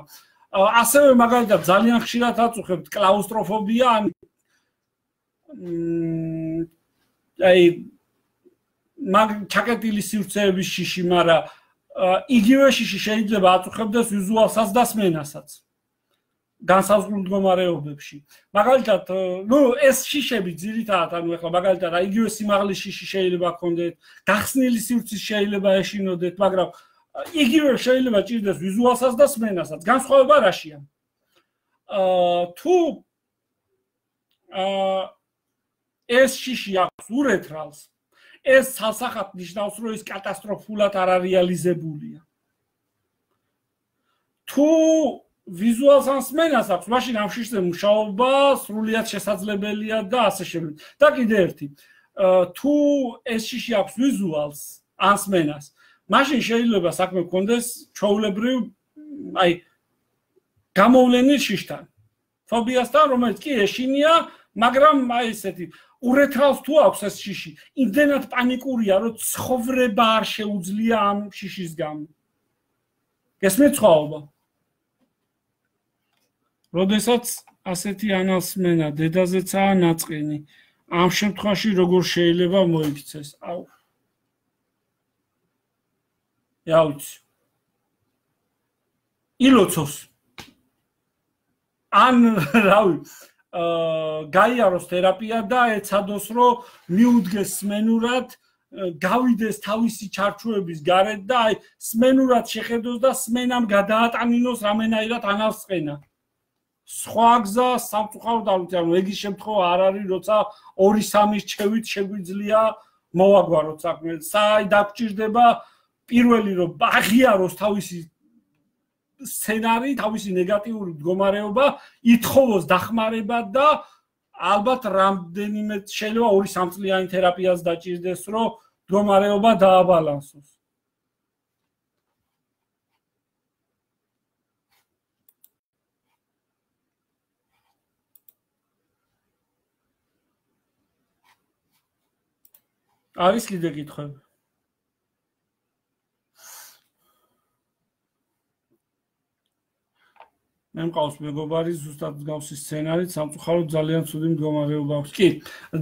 ასევე მაგალითად ძალიან ხშირად აწუხებთ კლაუსტროფობია, ან აი მაგ ჩაკეტილი სივრცეების შიში, მაგრამ იგივე შიში შეიძლება აწუხებდეს ვიზუალსაც და სმენასაც განსაზღვრულ მდგომარეობებში. მაგალითად, ნუ ეს შიშები ძირითადად, ანუ ახლა მაგალითად, აი იგივე სიმაღლის შიში შეიძლება გქონდეთ, გახსნილი სივრცის შეიძლება ეშინოდეთ, მაგრამ იგივე შეიძლება ჭირდეს ვიზუალსაც და სმენასაც. განსხვავება რაშია? აა თუ აა ეს შიში აქვს ურეთრალს, ეს ცალსახად ნიშნავს, რომ ის კატასტროფულად არ არეალიზებულია. თუ ვიზუალს ან სმენას აქვს, მაშინ ამ შიშზე მუშაობა სრულიად შესაძლებელია და ასე შემდეგ. და კიდე ერთი, თუ ეს შიში აქვს ვიზუალს ან სმენას, მაშინ შეიძლება საქმე გქონდეს ჩვეულებრივ აი გამოვლენილ შიშთან. ფობიასთან, რომელიც კი ეშინია, მაგრამ აი ესეთი ურეთრავს თუ აქვს ეს შიში, იმდენად პანიკურია, რომ ცხოვრება არ შეუძლია ამ შიშის გამო. გესმით სხვაობა? როდესაც ასეთი ანალსმენა დედაზეცაა ნაწყენი, ამ შემთხვევაში როგორ შეიძლება მოიქცეს? აუ. იაუც. ილოცოს. ან რავი, აა გაიაროს თერაპია და ეცადოს რომ მიუდგეს სმენურად, გავიდეს თავისი ჩარჩოების გარეთ და აი სმენურად შეხედოს და სმენამ გადაატანინოს რამენაირად ანალსყენა. სხვა გზა სამწუხაროდ არ ვიცი, ანუ ეგის შემთხვევა არ არის, როცა ორი სამის ჩევით შეგვიძლია მოვაგვაროთ საქმე. საი დაგჭირდება პირველი რომ აღიაროს თავისი სცენარი, თავისი ნეგატიური მდგომარეობა, ითხოვოს დახმარება და ალბათ რამდენიმე შეიძლება ორი სამწლიანი თერაპიაც დაჭირდეს, რომ მდგომარეობა დააბალანსოს. არის კიდე კითხვები? მე მყავს მეგობარი ზუსტად მსგავსი სცენარით, სამწუხაროდ ძალიან ცუდი მდგომარეობა აქვს. კი,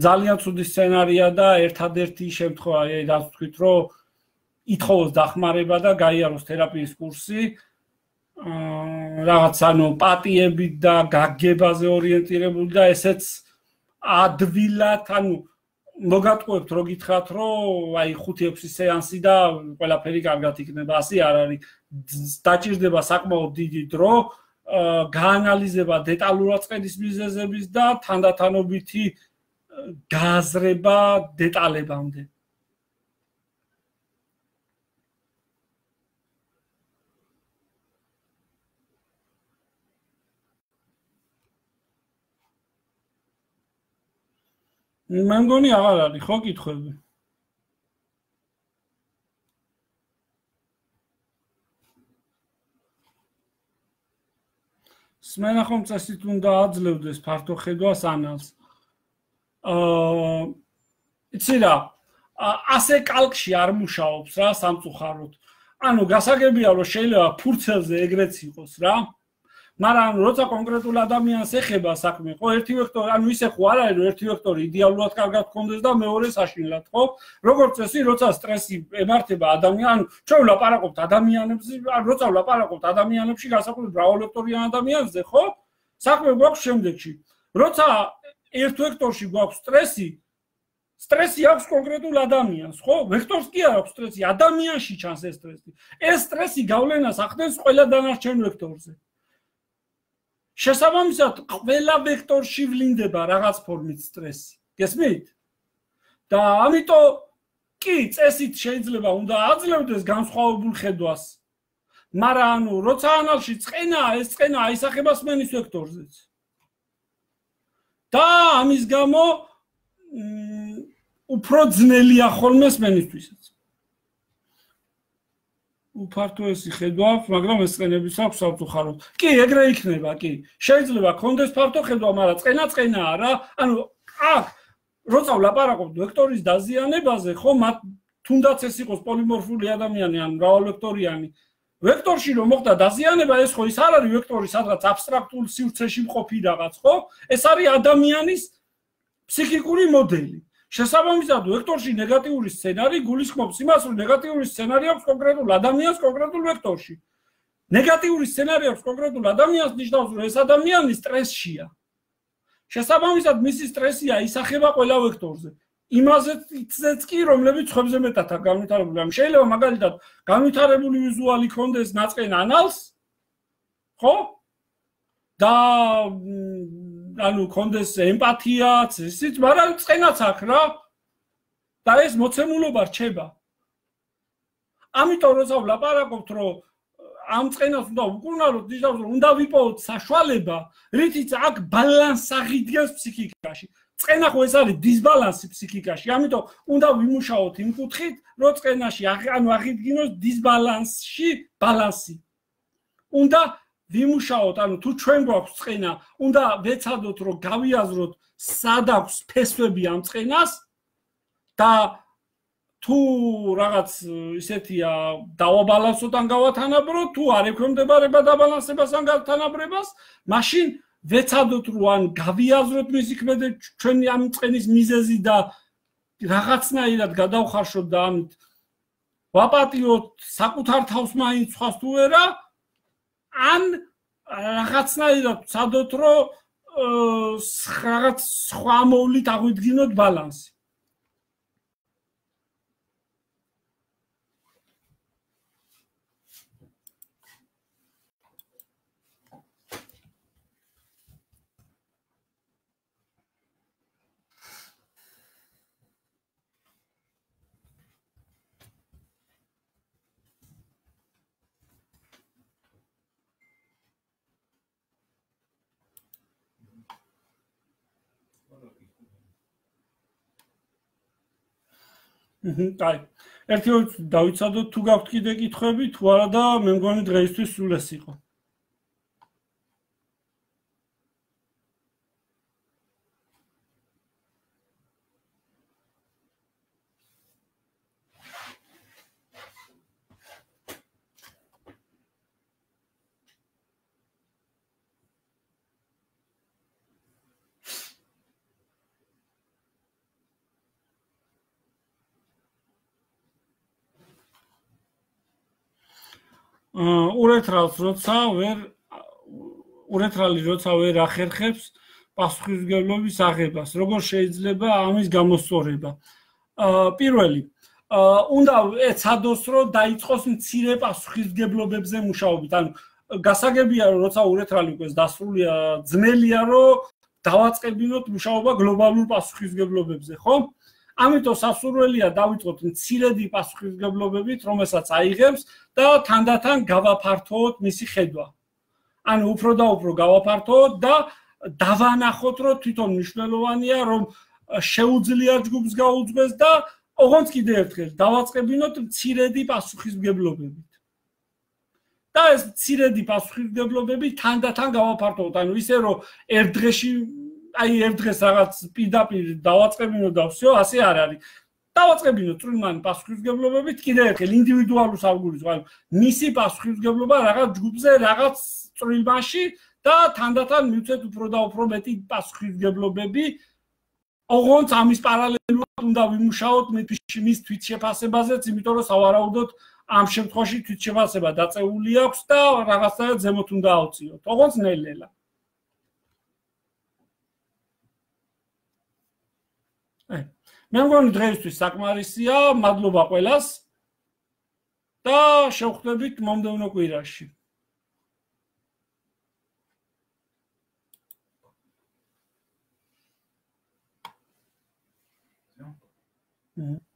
ძალიან ცუდი სცენარია და ერთადერთი შემთხვევა, აი რაც ვთქვით, რომ ითხოვოს დახმარება და გაიაროს თერაპიის კურსი, აა რაღაც ანუ პატიებით და გაგებაზე ორიენტირებული და ესეც ადვილად, ანუ მოგატყუებთ რო გითხრათ, რომ აი ხუთი ექვსი სეანსი და ყველაფერი კარგად იქნება, ასე არ არის. დაჭირდება საკმაოდ დიდი დრო გაანალიზება დეტალურად წყენის მიზეზების და თანდათანობითი გააზრება დეტალებამდე. მე მგონი აღარ არის, ხო კითხვები? სმენა ხომ წესით უნდა აძლევდეს ფართო ხედვას ანალს. აა იცი რა, ასე კალკში არ მუშაობს რა სამწუხაროდ. ანუ გასაგებია რომ შეიძლება ფურცელზე ეგრეც იყოს რა. მაგრამ როცა კონკრეტულ ადამიანს ეხება საქმე, ხო ერთი ვექტორი, ანუ ისე ხო არ არის რომ ერთი ვექტორი იდეალურად კარგად გქონდეს და მეორე საშინლად, ხო? როგორც წესი, როცა სტრესი ემართება ადამიანს, ჩვენ ვლაპარაკობთ ადამიანებზე, როცა ვლაპარაკობთ ადამიანებში, განსაკუთრებით მრავალვექტორიან ადამიანებზე, ხო? საქმე გვაქვს შემდეგში. როცა ერთ ვექტორში გვაქვს სტრესი, სტრესი აქვს კონკრეტულ ადამიანს, ხო? ვექტორს კი არ აქვს სტრესი, ადამიანში ჩანს ეს სტრესი. ეს სტრესი გავლენას ახდენს ყველა დანარჩენ ვექტორზე. შესაბამისად, ყველა ვექტორში ვლინდება რაღაც ფორმით სტრესი. გესმით? და ამიტომ კი, წესით შეიძლება უნდა აძლევდეს განსხვავებულ ხედვას. მაგრამ ანუ, როცა ანალში წყენაა, ეს წყენა აისახება სმენის ვექტორზეც. და ამის გამო უფრო ძნელია ხოლმე სმენისთვისაც. უფართოესი ხედვა აქვს, მაგრამ ეს წყენების აქვს სამწუხაროდ. კი, ეგრე იქნება, კი. შეიძლება გქონდეს ფართო ხედვა, მაგრამ წყენა წყენაა რა. ანუ აქ როცა ვლაპარაკობთ ვექტორის დაზიანებაზე, ხო, მათ თუნდაც ეს იყოს პოლიმორფული ადამიანი ან მრავალვექტორიანი, ვექტორში რომ მოხდა დაზიანება, ეს ხო ის არ არის ვექტორი, სადღაც აბსტრაქტულ სივრცეში მყოფი რაღაც, ხო? ეს არის ადამიანის ფსიქიკური მოდელი. შესაბამისად, ვექტორში ნეგატიური სცენარი გულისხმობს იმას, რომ ნეგატიური სცენარი აქვს კონკრეტულ ადამიანს კონკრეტულ ვექტორში. ნეგატიური სცენარი აქვს კონკრეტულ ადამიანს, ნიშნავს, რომ ეს ადამიანი სტრესშია. შესაბამისად, მისი სტრესია ისახება ყველა ვექტორზე. იმაზეც კი, რომლებიც ხვებზე მეტად აქვს განვითარებული. ამ შეიძლება მაგალითად განვითარებული ვიზუალი ქონდეს ნაწყენ ანალს, ხო? და ანუ კონდეს ემპათიაც, ისიც, მაგრამ წყენაც აქვს რა. და ეს მოცემულობა რჩება. ამიტომ როცა ვლაპარაკობთ, რომ ამ წყენას უნდა ვუკურნალოთ, ნიშნავს, რომ უნდა ვიპოვოთ საშუალება, რითიც აქ ბალანს აღიდგენს ფსიქიკაში. წენა ხო ეს არის დისბალანსი ფსიქიკაში, ამიტომ უნდა ვიმუშაოთ იმ კუთხით, რომ წენაში ანუ აღიდგინოს დისბალანსში ბალანსი. უნდა ვიმუშაოთ, ანუ თუ ჩვენ გვაქვს წენა, უნდა ვეცადოთ, რომ გავიაზროთ, სად აქვს ფესვები ამ წენას და თუ რაღაც ისეთია დავაბალანსოთ ან გავათანაბროთ, თუ არ ექვემდებარება დაბალანსებას ან გავთანაბრებას, მაშინ ვეცადოთ, რომ ან გავიაზროთ მისი ქმედე ჩვენი ამ წენის მიზეზი და რაღაცნაირად გადავხარშოთ და ამით ვაპატიოთ საკუთარ თავს მაინც სხვას თუ ვერა, ან რაღაცნაირად ვცადოთ, რომ რაღაც სხვა მოვლით აღვიდგინოთ ბალანსი. აი, ერთი ორი დავიცადოთ, თუ გაქვთ კიდე კითხვები, თუ არა და მე მგონი დღეისთვის სულ ეს იყო. ურეთრალს როცა ვერ ურეთრალი როცა ვერ ახერხებს პასუხისმგებლობის აღებას, როგორ შეიძლება ამის გამოსწორება? პირველი, უნდა ეცადოს, რომ დაიწყოს მცირე პასუხისმგებლობებზე მუშაობით. ანუ გასაგებია, რომ როცა ურეთრალი უკვე დასრულია, ძნელია, რომ დავაწყებინოთ მუშაობა გლობალურ პასუხისმგებლობებზე, ხო? ამიტომ სასურველია დავიწყოთ მცირედი პასუხისმგებლობებით, რომელსაც აიღებს და თანდათან გავაფართოვოთ მისი ხედვა. ანუ უფრო და უფრო გავაფართოვოთ და დავანახოთ, რომ თვითონ მნიშვნელოვანია, რომ შეუძლია ჯგუფს გაუძღვეს და ოღონდ კიდე ერთხელ დავაწყებინოთ მცირედი პასუხისმგებლობებით. და ეს მცირედი პასუხისმგებლობები თანდათან გავაფართოვოთ, ანუ ისე რომ ერთ დღეში აი ერთ დღეს რაღაც პირდაპირ დავაწყებინოთ და всё, ასე არ არის. დავაწყებინოთ წვრილმანი პასუხისმგებლობებით კიდე ერთხელ ინდივიდუალურ სალგურიც, ანუ მისი პასუხისმგებლობა რაღაც ჯგუფზე, რაღაც წვრილმანში და თანდათან მივცეთ უფრო და უფრო მეტი პასუხისმგებლობები. ოღონდ ამის პარალელურად უნდა ვიმუშაოთ მის თვითშეფასებაზეც, იმიტომ რომ სავარაუდოდ ამ შემთხვევაში თვითშეფასება დაწეული აქვს და რაღაცნაირად ზემოთ უნდა ავწიოთ. ოღონდ ნელ-ნელა. მე მგონი დღეისთვის საკმარისია, მადლობა ყველას და შევხვდებით მომდევნო კვირაში. Mm-hmm.